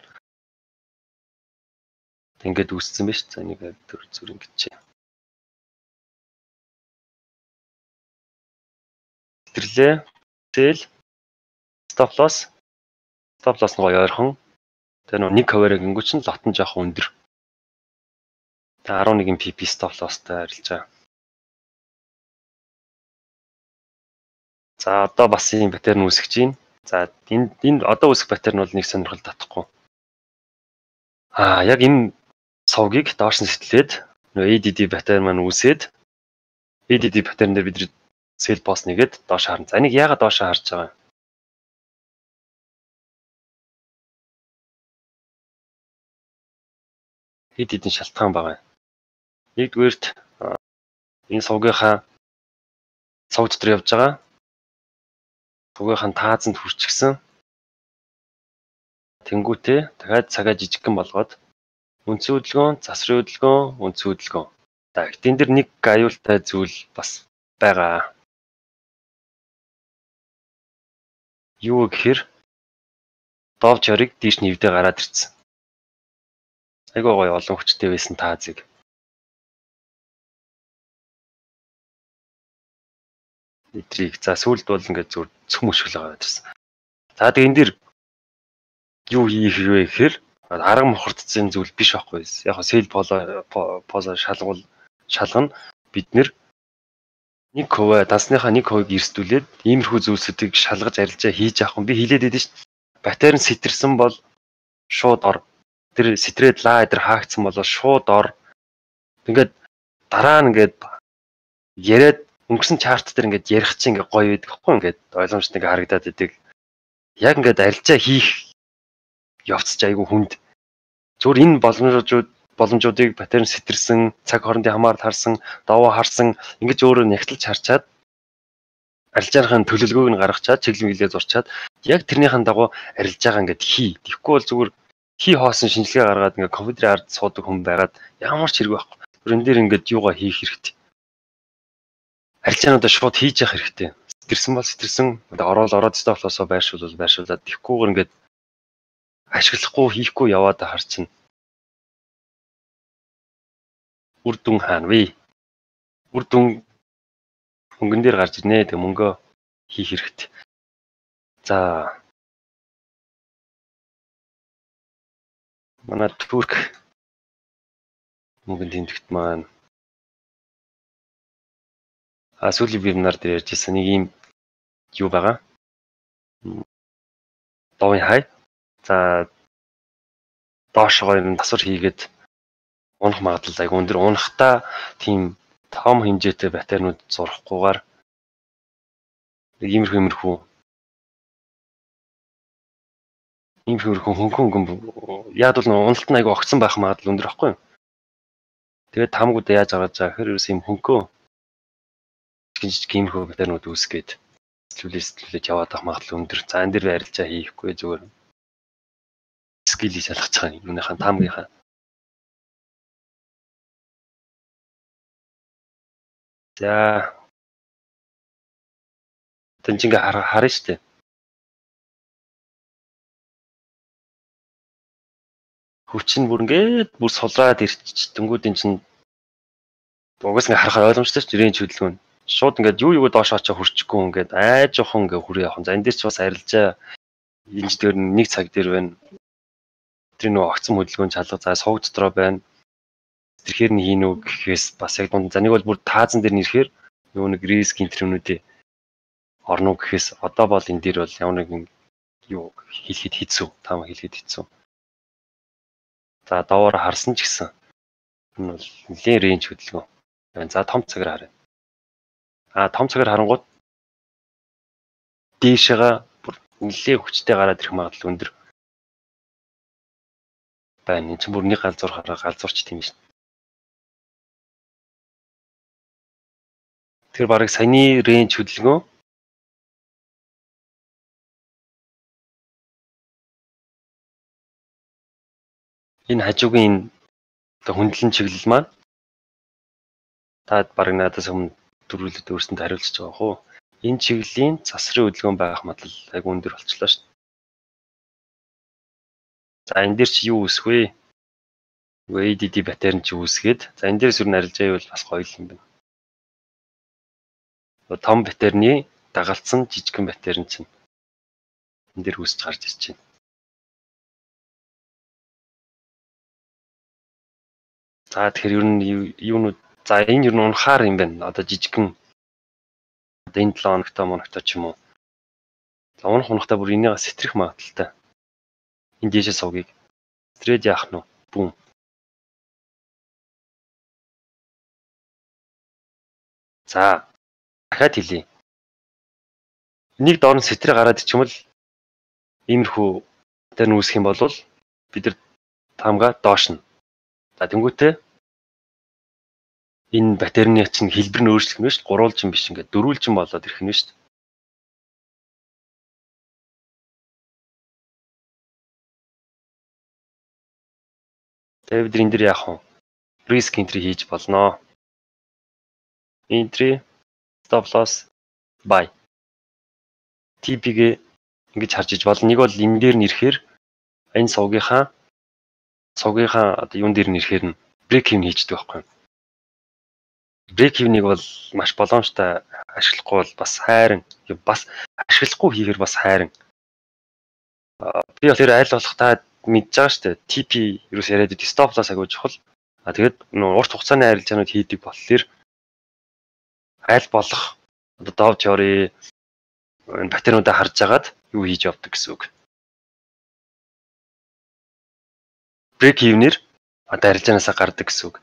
ингээд үүссэн байж. За нэг төр зүр ингэж чи. Тэрлээ. Тэл stop loss. Stop loss нь гоё ойрхон. Тэр нэг cover-ыг ингэв чинь лот нь жоох өндөр. Тэ арван нэг пи пи stop loss-тай арилжаа. За одоо бас ийм паттерн үүсгэж байна. За энэ энэ одоо үүсэх паттерн бол нэг сонирхол татахгүй. Аа яг энэ сувгийг доош нь сэтэлээд нөө эй ди ди паттерн маань үүсээд эй ди ди паттерн дээр бид sell boss нэгээд доош харна. За энийг яагаад доош харж байгаа юм? Хэд хэдэн шалтгаан байгаа юм. Нэгдүгээрт энэ сувгийнхаа сувг дотор явж байгаа сувгийнхаа таазанд хүрчихсэн. Тэнгүүтээ дахиад цагаа жижигхэн болгоод үндсэн хөдөлгөөн, засрын хөдөлгөөн, үндсэн хөдөлгөөн. За энэ дэр нэг аюултай зүйл бас байгаа. Юу гэхээр дов чорыг дийш нэвдээ гараад ирсэн. Айгуу гоё олон хүчтэй байсан таазыг. Эдрийг за сүлд бол ингээд зүр цөм өшгөл байгаа гэсэн. За тэгээ энэ дэр юу хийх вэ гэхээр арга мохордсон зүйл биш байхгүй. Яг нь сел поло позо шалгуул шалгана бид нэр нэг хувь дансныхаа нэг хувийг эрсдүүлээд иймэрхүү зүйлсүүдийг шалгаж арилжаа хийж авах юм. Би хэлээд байдсан шүү дээ. Паттерн сэтэрсэн бол шууд ор. Тэр сэтрээд лаа эдэр хаагдсан бол шууд ор. Ингээд дараа нь ингээд яриад өнгөрсөн чарт дээр ингээд ярих чинь ингээд гоё байдаг хгүй ингээд ойлгомжтой ингээд харагдаад байдаг. Яг ингээд арилжаа хийх явцч айгүй хүнд. Зүгээр энэ боломжууд боломжуудыг паттерн сэтэрсэн, цаг хоорондын хамаарал харсан, даваа харсан ингэж өөрөө нягтлж харчаад арилжааныхаа төлөвлөгөөг нь гаргачаад чиглэл мэлээ зурчаад яг тэрнийхэн дагуу арилжаагаа ингээд хий. Тэгэхгүй бол зүгээр хий хоосон шинжилгээ гаргаад ингээд компьютерийн ард суудаг хүн байгаад ямар ч хэрэг байхгүй. Тэр энэ дээр ингээд юугаа хийх хэрэгтэй. Арилжаануудаа шууд хийж явах хэрэгтэй. Сэтэрсэн бол сэтэрсэн. Ороод ороод stop loss-оо байршуул байршуулаад тэгхгүйгээр ингээд ашиглахгүй хийхгүй яваад харчихна. Үр дүн хаана вэ? Үр дүн хөнгөн дээр гарч ирнэ. Тэг мөнгөө хийх хэрэгтэй. За. Манай Турк мөнгөнд тэмдэгт маань а сүүлийн вебинар дээр ярьжсэн нэг юм юу байгаа. Довын хай. За доошогоо юм тасвар хийгээд унах магадлал айгүй өндөр. Унахтаа тийм том хэмжээтэй паттернууд зурхгүйгээр иймэрхүү иймэрхүү иймэрхүү хөнгөн хөнгөн яад бол уналт нь айгүй огцсон байх магадлал өндөр байхгүй юу? Тэгээд таамгуудаа яаж аваад байгаа гэхээр ерөөс юм хөнгөө жижиг иймэрхүү паттернууд үүсгээд сэтгүүлээс сэтгүүлээд яваад байх магадлал өндөр. За энэ дэр арилжаа хийхгүй зүгээр скилийг шалгаж байгаа юуныхаа таамгийнхаа. За тэнцэнгээ харна шүү дээ. Хүч нь бүр ингээд бүр сулраад ирч тэнгууд эн чинь угаас ингээ харахаар ойлгомжтой шүү дээ. Рейнж хөдөлгөөн. Шууд ингээд юу юу доош очоо хурчихгүй ингээд айж жохон ингээ хүрээ явах. За энэ дээр ч бас арилжаа энэ дээр нэг цаг дээр байна. Тэр нөө огцом хөдөлгөөн чалга за сувг дотроо байна. Тэрхээр нь хийнү гэхээс бас яг дунд. За нэг бол бүр таазан дээр нэрэхээр юу нэг риск интервнүүдээ орно гэхээс одоо бол энэ дээр бол ямар нэгэн юу хэлэхэд хэцүү, таамаг хэлэхэд хэцүү. За доогоор харсан ч гэсэн энэ бол нэлийн рейнж хөдөлгөөн. За том цагаар харъя. А том цагаар харангууд дээшээгээ бүр нэлийн хүчтэй гараад ирэх магадлал өндөр байна. Энд чинь бүр нэг галзуур хараа галзуурч тийм шин. Тэр барыг саяны рейнж хөдөлгөөн энэ хажуугийн энэ хөндлөн чиглэл маань та барыг надаас өмнө дөрвөлөд өөрсөнд хариулчихж байгаа хөө. Энэ чиглэлийн засрын хөдөлгөөн байх магадлал айгүй өндөр болчихлоо шүү дээ. За энэ дээр чи юу үүсэх вэ? A D D батарей чи үүсгээд за энэ дээрс юу нарилж байвал бас гоё юм байна. Том батарейны дагалцсан жижигхэн батарей чинь энэ дээр үүсч гарч ирж байна. За тэгэхээр ер нь юунууд за энэ ер нь унахаар юм байна. Одоо жижигхэн одоо энэ седем хоногтой моногтой ч юм уу. За унах унахтаа бүр энийгээ сэтрэх магадaltaй. Энэ дээшээ сувгийг стрээд яах нь вэ? Бүүм. За дахиад хэлье. Энийг доор нь сэтрээ гараад ичмэл иймэрхүү тэр нь үүсэх юм бол бид нар таамгаа доош нь. За тэнгуүтээ энэ батарейны чинь хэлбэр нь өөрчлөх нь шүү дээ. Гурвуулжин биш ингээд дөрвүүлжин болоод ирэх нь шүү дээ. Тэгээ бид энэ дэр яах вэ? Risk entry хийж болноо. Entry stop loss buy. T P-гээ ингэж харж иж болно. Нэг бол энэ дээр нь ирэхээр энэ сувгийнхаа сувгийнхаа одоо юун дээр нь ирэхээр нь break even хийждэг байхгүй юу? Break even-ийг бол маш боломжтой ашиглахгүй бол бас хайран бас ашиглахгүй хийхээр бас хайран. Би бол тэр айл болох та мэдж байгаа шүү дээ. T P юус яриад идэв stop loss агуулж чухал. А тэгээд нөө урт хугацааны арилжаанууд хийдэг болохоор айл болох одоо Dow Theory энэ батарейнуудаа харж агаад юу хийж явдаг гэсэн үг. Break even-ээр одоо арилжаанаасаа гардаг гэсэн үг.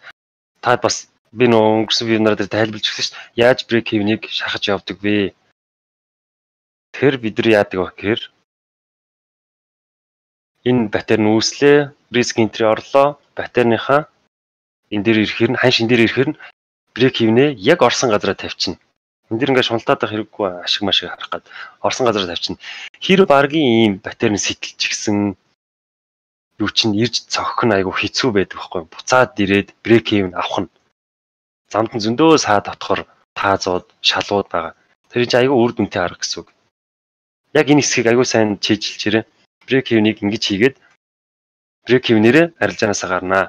Та бас би нөө өнгөрсөн вебинар дээр тайлбарлаж өгсөн шүү дээ. Яаж break even-ийг шахаж явдаг вэ? Тэгэхээр бид нар яадаг вэ гэхээр энэ батарей нь үүслээ, risk entry орлоо, батарейныхаа энэ дээр ирэхээр нь хань шин дээр ирэхээр нь break even-ээ яг орсон газараа тавьчихна. Энд дэр ингээд шунтаад байх хэрэггүй ашиг машиг харах гад орсон газараа тавьчихна. Хэр баргийн ийм батарей сэтэлж гисэн юу чинь ирж цогх нь айгу хэцүү байдаг байхгүй. Буцаад ирээд break even авах нь. Замд нь зөндөө саа дотохоор таазууд, шалууд байгаа. Тэр чинь айгу үр дүнтэй арга гэсэн үг. Яг энэ хэсгийг айгу сайн чийжилж ирээ. Break even-ийг ингэж хийгээд break even-ээрээ арилжаанаасаа гарнаа.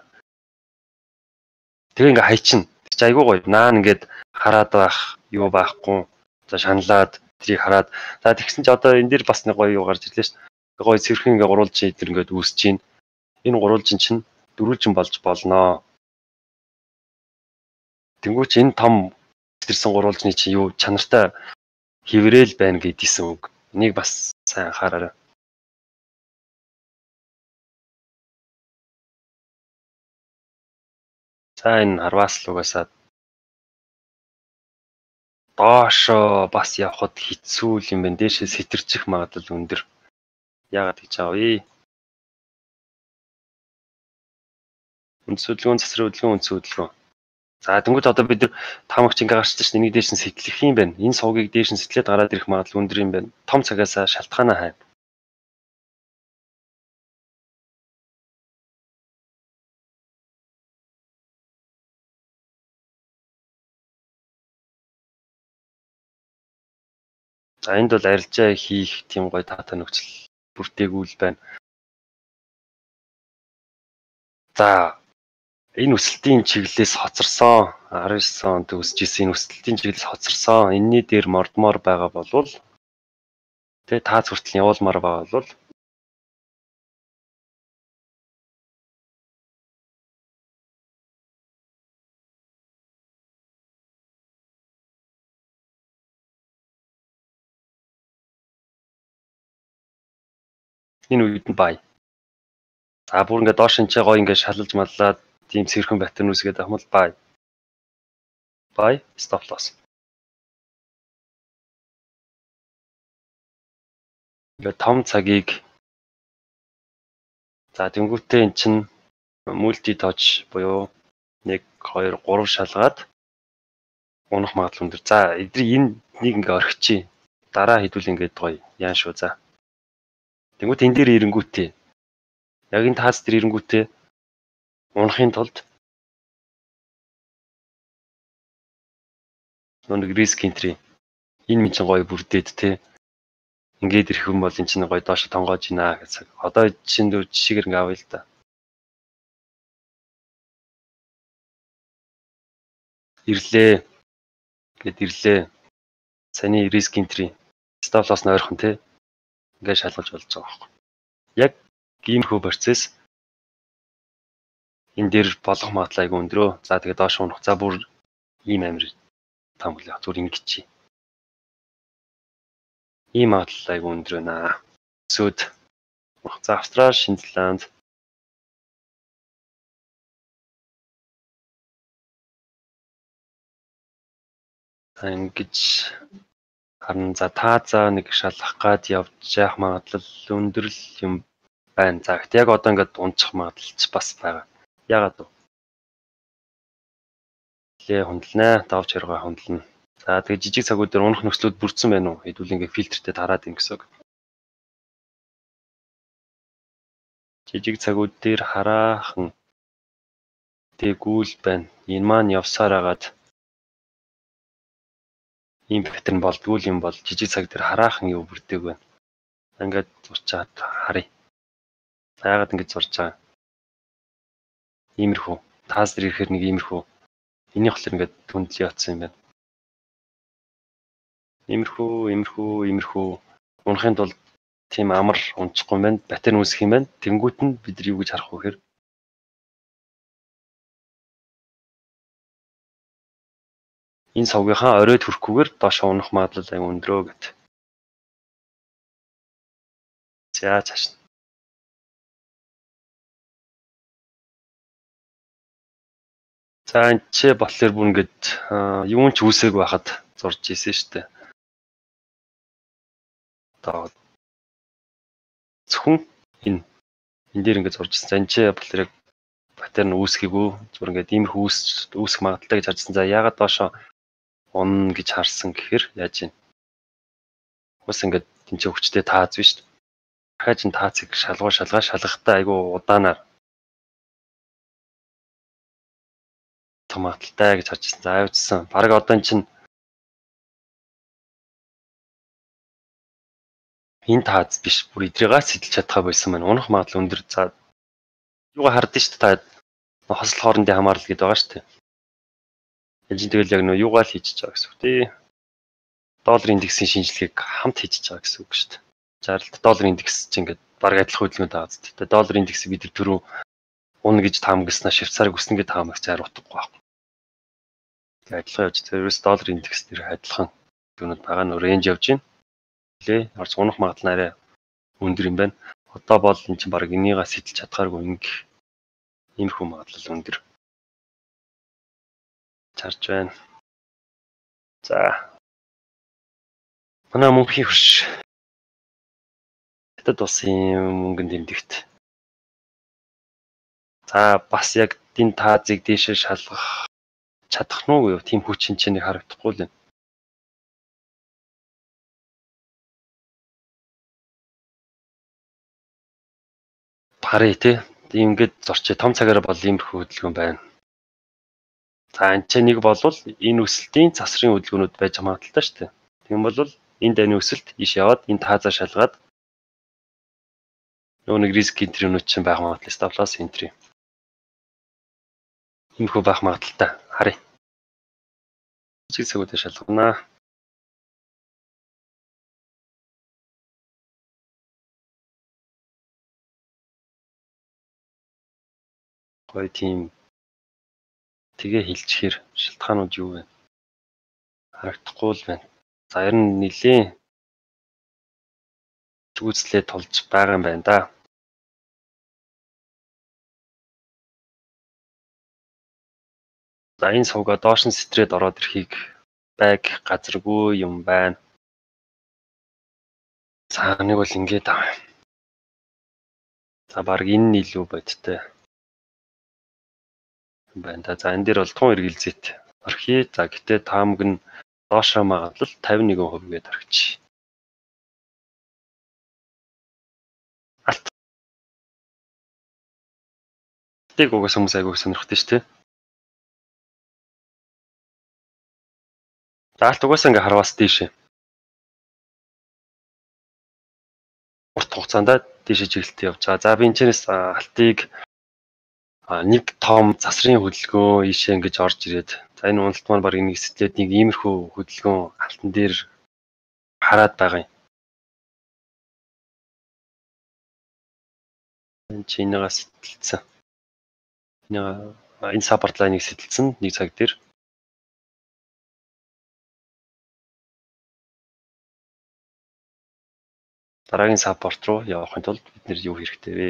Тэгээ ингээ хайчин. Тэр чинь айгу гоё. Наан ингээд хараад байх, юу байхгүй. За шаналаад тэрийг хараад. За тэгсэн чи одоо энэ дээр бас нэг гоё юу гарч ирлээ шүү дээ. Гоё цэвэрхэн ингээ гурвуулжин идэр ингээд үүсэж чинь. Энэ гурвуулжин чинь дөрвөлжин болж болноо. Тэнгүүч энэ том тэрсэн гурвуулжны чинь юу чанартай хэврээл байна гэдгийгсэн үг. Энийг бас сайн анхаараарай. За энэ харваас л угаасаа доошоо бас явхад хэцүү юм байна. Дээшээ сэтэрчих магадлал өндөр. Яагаад гэж аав вэ? Үндс хөдөлгөөн, засрын хөдөлгөөн, үндс хөдөлгөөн. За тэнгууд одоо бид нар таамагч ингээ гарчдаг чинь энийг дээш нь сэтлэх юм байна. Энэ сувгийг дээш нь сэтлээд гараад ирэх магадлал өндөр юм байна. Том цагаас шалтгаанаа хайна. За энд бол арилжаа хийх тийм гоё таатай нөхцөл бүртээгүүл байна. За энэ өсөлтийн чиглэлээс хоцорсон арван девять онд өсөж исэн энэ өсөлтийн чиглэлээс хоцорсон энэний дээр мордмоор байгаа болвол тэгээ таац хүртэл явуулмаар байгаа бол энэ үед нь бай. За бүр ингээд доош энэ гоё ингээд шалалж маллаад тийм сэрхэн паттерн үүсгээд авах юм бол buy. Buy stop loss. Ингээд том цагийг за тэнгуүтээ эн чин multi touch буюу нэг хоёр гурав шалгаад унах магадлал өндөр. За эдний энэ нэг ингээ орхичих. Дараа хэдүүл ингээд гоё яан шүү за. Тэнгуүт энэ дээр ирэнгүүтээ яг энэ таас дээр ирэнгүүтээ унахын тулд нэг риск энтри энэ минь чинь гоё бүрдээд те ингээд ирэх юм бол эн чинь гоё доош тонгоож ийна гэсэн. Одоо чинь дүү жишээгээр ингээ авъя л да. Ирлээ. Гэт ирлээ. Саний риск энтри stop loss нь ойрхон те. Ингээ шалгалж болж байгаа байхгүй. Яг иймэрхүү процесс энэ дээр болох магадлал айгүй өндрөө. За тэгээ доош унах. За бүр ийм амир там үлээ. Зүр ингэж чи. Ийм магадлал айгүй өндөр байна. Сүд. За Австрали, Шинзланд ингэж харин за та за нэг шалгах гад явж яах магадлал өндөр л юм байна. За гэхдээ яг одоо ингээд унчих магадлал ч бас байгаа. Яагаад вэ? Лээ хөндлөнэ, давж хэрэг хөндлөнө. За тэгээ жижиг цагууд дээр унах нөхцлүүд бүрдсэн байна уу? Хэдүүл ингээд фильтртэй тараад ийн гэсэн үг. Жижиг цагууд дээр хараахан тэгүүл байна. Энэ маань явсаар агаад ийм паттерн болдгүй юм бол жижиг цаг дээр хараахан юу бүрдээг байна. Ингээд зурчаад харъя. Яагаад ингэж зурж байгаа? Иймэрхүү. Таас дээр ирэхээр нэг иймэрхүү. Энийг болохоор ингээд түндлээ явцсан юм байна. Иймэрхүү, иймэрхүү, иймэрхүү. Унахын тулд тийм амар унчихгүй юм байна. Паттерн үүсэх юм байна. Тэнгүүт нь бид нар юу гэж харах вэ гэхээр энэ сувгийнхаа оройд хүрэхгүйгээр доош унах магадлал аяг өндрөө гэт. За цааш. За энэ ч болохоор бүр ингээд юун ч үүсээг байхад зурж ийсэн шүү дээ. Одоо зөвхөн энэ энэ дээр ингээд зурж ийсэн. За энэ ч болохоор яг паттерн үүсгээгүү зүгээр ингээд иймэрхүү үүс үүсэх магадaltaй гэж харжсан. За яагаад доошоо унна гэж харсан гэхээр яаж юм? Бас ингээд энэ ч өвчтэй тааз биш шүү дээ. Дахиад энэ таацыг шалгуу шалгаа шалгахтаа айгүй удаанаар магадaltaй гэж харжсан. За авчихсан. Бараг одоо эн чинь энэ тааз биш. Бүр идрийгээс сэтэлж чадхаа болсон байна. Унах магадлал өндөр. За юугаа хардсан шүү дээ. Та хосол хоорондын хамаарал гэдэг байгаа шүү дээ. Энд чинь тэгэл яг нөө юугаа л хийж байгаа гэсэн үг тий. Доллар индексийн шинжилгээг хамт хийж байгаа гэсэн үг шүү дээ. Жааралт доллар индекс чинь ингээд бараг адилхан хөдөлгөөнд байгаа зү. Тэгээ доллар индексийг бид түрүү унна гэж таамагснаа Швейцарыг өснө гэж таамагч хариуцахгүй байхгүй. Тэгээ адилхан явж тэрээс доллар индекс дээр адилхан өнөд байгаа нөр рейнж явж байна. Лээ орц унах магадлал арай өндөр юм байна. Одоо бол эн чинь бараг энийгээ сэтэлж чадхааргүй ингэх иймэрхүү магадлал өндөр. Чарж байна. За. Манай мөнхийн хөрш. Хятад улсын мөнгөнд тэмдэгт. За бас яг энэ таазыг дээшээ шалгах чадах нь уу юу? Тим хүч шинжээнийг харагдахгүй л байна. Пари тий. Ингээд зорчоо том цагаараа бол иймэрхүү хөдөлгөөн байна. За энэ ч нэг болвол энэ өсөлтийн засрын хөдөлгөөнүүд байж магадaltaй шүү дээ. Тийм бол энэ дайны өсөлт иш яваад энэ таазаа шалгаад нөгөө нэг риск энтринүүд чинь байх магадлал stop loss энтри. Иймэрхүү байх магадaltaй. Харъя. Жиг цагуудаа шалгана. Гоё тийм тэгээ хилчээр шалтгаанууд юу вэ? Харагдахгүй л байна. За ер нь нилийн зүгүцлээ тулж байгаа юм байна да. За энэ сувга доош нь сэтрээд ороод ирэхийг байг газаргүй юм байна. За нэг бол ингээд аа. За баг энэ нь илүү бодтой. Байна да. За энэ дээр бол тун эргэлзээт орхий. За гэтээ таамаг нь доошоо магадлал тавин нэгэн хувь гээд орчих. Алт. Тийг угаас хүмүүс айгууг сонирхдаг шүү дээ. За алт угаасаа ингээ харвас дийшээ. Урт хугацаанд дийшээ чиглэлтэй явж байгаа. За би энэчнээс алтыг нэг том засрын хөдөлгөөн ийшээ ингэж орж ирээд за энэ уналт маань баг нэг сэтлээд нэг иймэрхүү хөдөлгөөн алтан дээр хараад байгаа юм. Энэ чинээс сэтэлцэн. Энэ саппорт лайныг сэтэлцэн нэг цаг дээр. Дараагийн саппорт руу явахын тулд бид нэр юу хэрэгтэй вэ?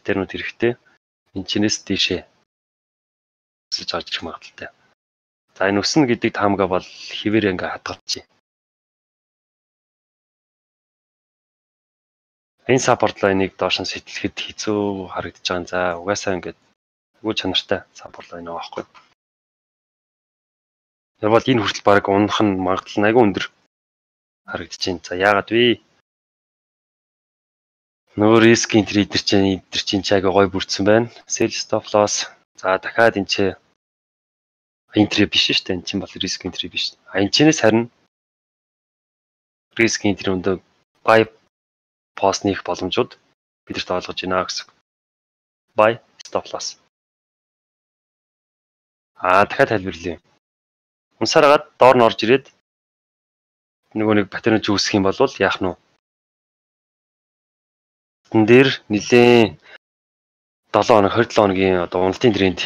Тэрнүүд хэрэгтэй. Энэ чинээс дийшээ өсөж орж ирэх магадaltaй. За энэ өснө гэдэг таамгаа бол хэвээр ингээ хадгалчих. Энэ саппорт лайныг доош нь сэтэлхэд хэцүү харагдаж байгаа. За угаасаа ингээд үгүй чанартай саппорт лайн байгаа байхгүй. Яг бол энэ хүртэл баг унах нь магадлал айгүй өндөр харагдаж байна. За яагаад вэ? Нөгөө рискийн трейдер чинь эдгэр чинь чагаа гой бүрдсэн байна. Sell stop loss. За дахиад энэ ч энтри биш шүү дээ. Энэ чинь бол риск энтри биш. А энэ чинээс харин риск энтри өндөр buy post нэх боломжууд бидэрт олгож байна гэсэн. Buy stop loss. А дахиад тайлбарлая. Унсараад доор нь орж ирээд нөгөө нэг паттерн ч үүсэх юм бол яах нь вэ? Тэн дээр нэлээ долоо хоног хоёр долоо хоногийн одоо уналтын тренд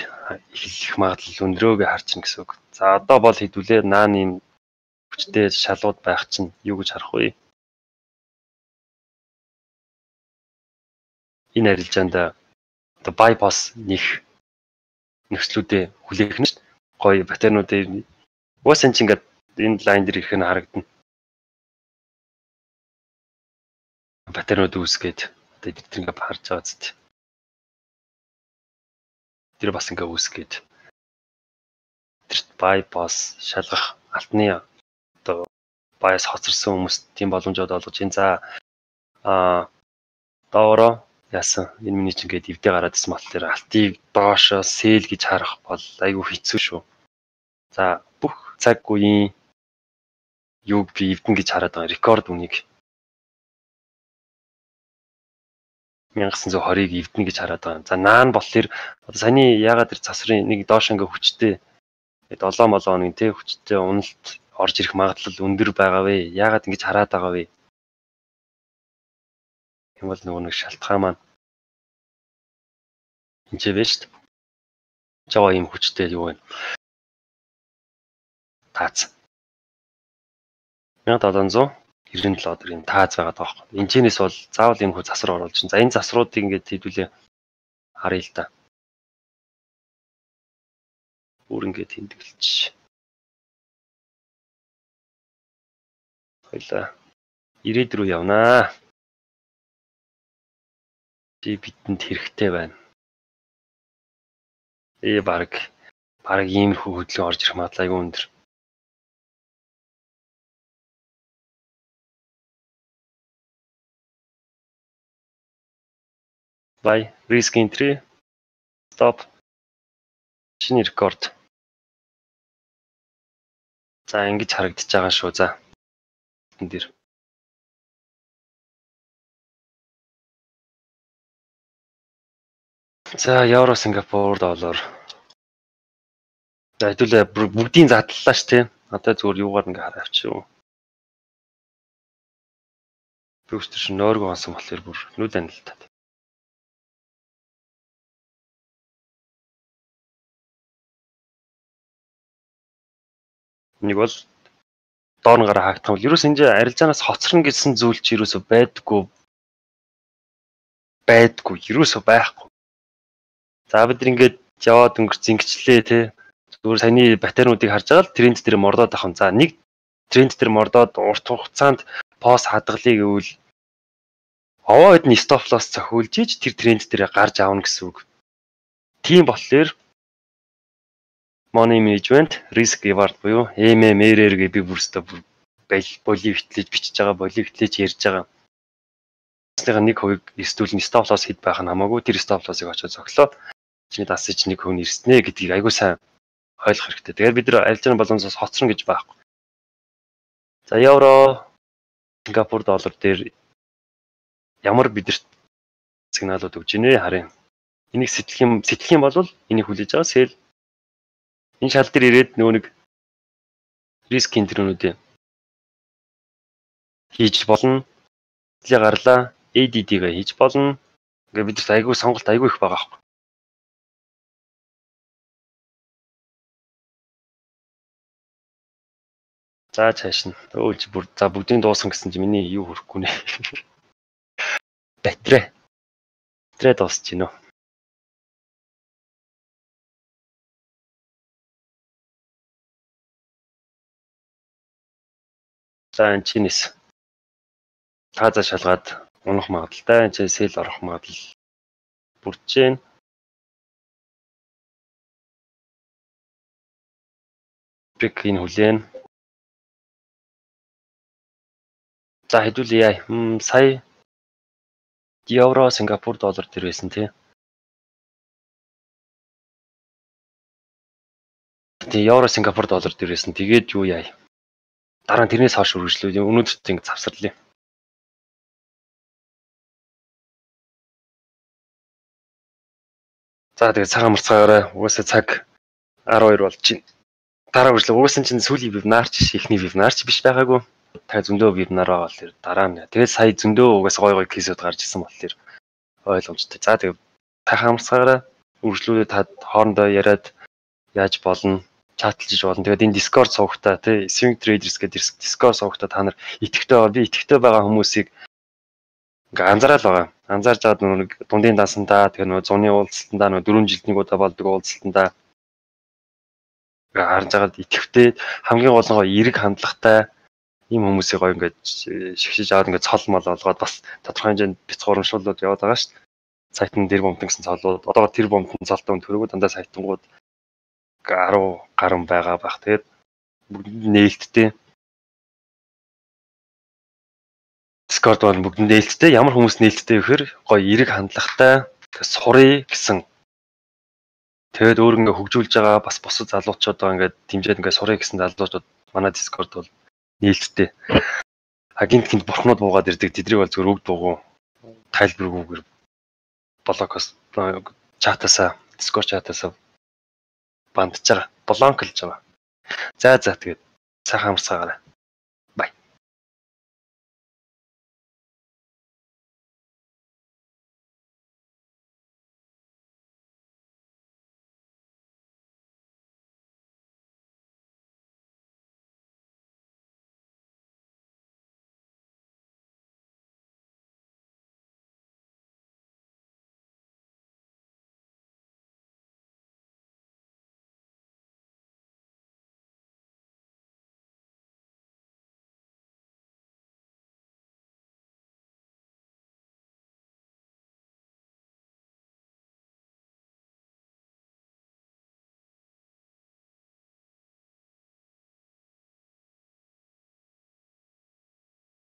эхлэх магадлал өндөрөөг харчихна гэсэн үг. За одоо бол хэдүүлээ наан юм хүчтэй шалууд байх чинь юу гэж харах вэ? Энэ арилжаанд одоо bypass нэх нөхцлүүдээ хүлээх нь гоё паттернуудыг уус энэ чинь ингээд энэ лайн дээр ирэх нь харагдана. Паттернууд үүсгээд одоо эдгээр ингээд харж байгаа зү. Тэр бас ингээд үүсгээд тэрт bypass шалгах алтны одоо bias хоцорсон хүмүүс тийм боломжууд олгож энэ за а доороо яасан энэ миний ч ингээд эвдээ гараад ирсэн мал дээр алтыг доошоо sell гэж харах бол айгүй хэцүү шүү. За бүх цаг үеийн юуг би эвдэн гэж хараад байгаа рекорд үнийг мянга зуун хорийг эвдэн гэж хараад байгаа. За наан болохоор одоо саяны ягаад тэр засрын нэг доош ингээ хүчтэй долоо молоо нэг тэ хүчтэй уналт орж ирэх магадлал өндөр байгаа вэ? Ягаад ингэж хараад байгаа вэ? Тийм бол нөгөө нэг шалтгаан маань энэ ч вэ шүү дээ. Жава юм хүчтэй юу вэ? Таац. мянга долоон зуун девяносто семь долларын таац байгаа таахгүй. Энэ чинээс бол заавал юм хөө засвар оруулж чинь. За энэ засваруудыг ингээд хэдүүлээ харъя л да. Бүр ингээд тэмдэглэж. Хойлоо. ирээд рүү явнаа. Чи бидэнд хэрэгтэй байна. Ээ баг баг иймэрхүү хөдөлгөөн орж ирэх магадлал айгүй өндөр. Buy, risk entry, stop, шинэ рекорд. За ингэж харагдаж байгаа шүү. За энэ дэр. За евро, Сингапур, доллар. За хэдүүлээ бүгдийн задлалаа ш тийм. Одоо зүгээр юугаар ингээ хараа авчихв. Бүгд ч нойргоо онсон болохоор бүр нүд анилтаад. Нэг бол доор нь гараа хаагдах бол ерөөс энэ арилжаанаас хоцорно гэсэн зүйл чи ерөөсөө байдаггүй. Байдаггүй, ерөөсөө байхгүй. За бид ингээд яваад өнгөрч зингчлээ те. Зүгээр саяны батарейнуудыг харж байгаа л тренд дээр мордоод авах. За нэг тренд дээр мордоод урт хугацаанд пост хадгалъя гэвэл овоо хэд нь стоп лосс цохиулж иж тэр тренд дээр гарч аавна гэсэн үг. Тийм болохоор money management, risk reward буюу эм эм эр эр гэ би бүрстэ боли битлэж бичиж байгаа, боли битлэж ярьж байгаа. Тэснийг нэг хувийг эрсдүүлэн стоп лосс хэд байх нь хамаагүй тэр стоп лоссыг очиж зөглөө. Чиний дасаж нэг хүн ирснэ гэдгийг айгүй сайн ойлгох хэрэгтэй. Тэгэхээр бид нар арилжааны боломжоос хоцрон гэж байхгүй. За евро, Сингапур доллар дээр ямар бидэрт сигналууд өгч ийнэ харъя. Энийг сэтгэх юм сэтгэх юм бол энийг хүлээж байгаа сэл энэ шал дээр ирээд нөгөө нэг риск энтрүүнүүдээ хийж болно. Тэглээ гарлаа эй ди ди-гээ хийж болно. Ингээ бидэрт айгүй сонголт айгүй их байгаа байхгүй. За цааш нь өөлж бүр за бүгдийн дуусан гэсэн чи миний юу хөрөхгүй нэ. Батарей. Батарей дуусч гинөө. За энэ чинээс тааза шалгаад унах магадaltaй энэ сэл орох магадлал бүрдэж байна. Пик энэ хүлээн. За хэдүүлээ. Хм сая евро, Сингапур доллар дээр байсан тий. Тий евро, Сингапур доллар дээр байсан. Тэгээд юу яа. Дараа нь тэрнээс хойш үргэлжлүүлээ. Өнөөдөр ингэ завсарлаа. За тэгээд цагаан марцгаараа угаасаа цаг арван хоёр болж байна. Дараа үргэлжлээ. Угаасаа чинь сүүлийн вебинарч ихний вебинарч биш байгаагүй. Та зөндөө вебинар байгаа болохоор дараа нь. Тэгээд сая зөндөө угаасаа гой гой кейсүүд гарч ирсэн болохоор ойлгомжтой. За тэгээд цагаан марцгаараа үргэлжлүүлээ та хоорондоо яриад яаж болно, чатлж болно. Тэгээд энэ Discord суугтаа тий Swing Traders гэдэг Discord суугтаа та нар итгэвтэй байгаа. Би итгэвтэй байгаа хүмүүсийг ингээ анзаараад байгаа. Анзаарж аваад нэг дундын дансандаа тэгээ нөгөө зуны уулзалтандаа нөгөө дөрвөн жилдний удаа болдог уулзалтандаа ингээ харж агаад итгэвтэй хамгийн гол нь эерэг хандлагатай ийм хүмүүсийг гоё ингээ шигшиж аваад ингээ цол мол олгоод бас тодорхой хэмжээнд бяцхуурамшуулаад яваад байгаа шүү дээ. Сайтан дээр бомтон гэсэн цолууд одоо тэр бомтон цолтой төрөгөө дандаа сайтангууд арав гарan байгаа байх. Тэгээд бүгд нээлттэй Discord бол бүгд нээлттэй. Ямар хүмүүс нээлттэй вэ гэхээр гоё эерэг хандлагатай сурыг гэсэн. Тэгээд өөр ингээ хөгжүүлж байгаа бас босод залуучууд байгаа ингээд дэмжээд ингээ сурыг гэсэн залуучууд манай Discord бол нээлттэй. Агент гинт бурхнууд буугаад ирдэг. Тэдрийг бол зөвхөн өгд буугу тайлбаргүйгээр блокос чатасаа Discord чатасаа бандж байгаа. Блонклж байгаа. За за тэгээд сайхан амарцгаараа.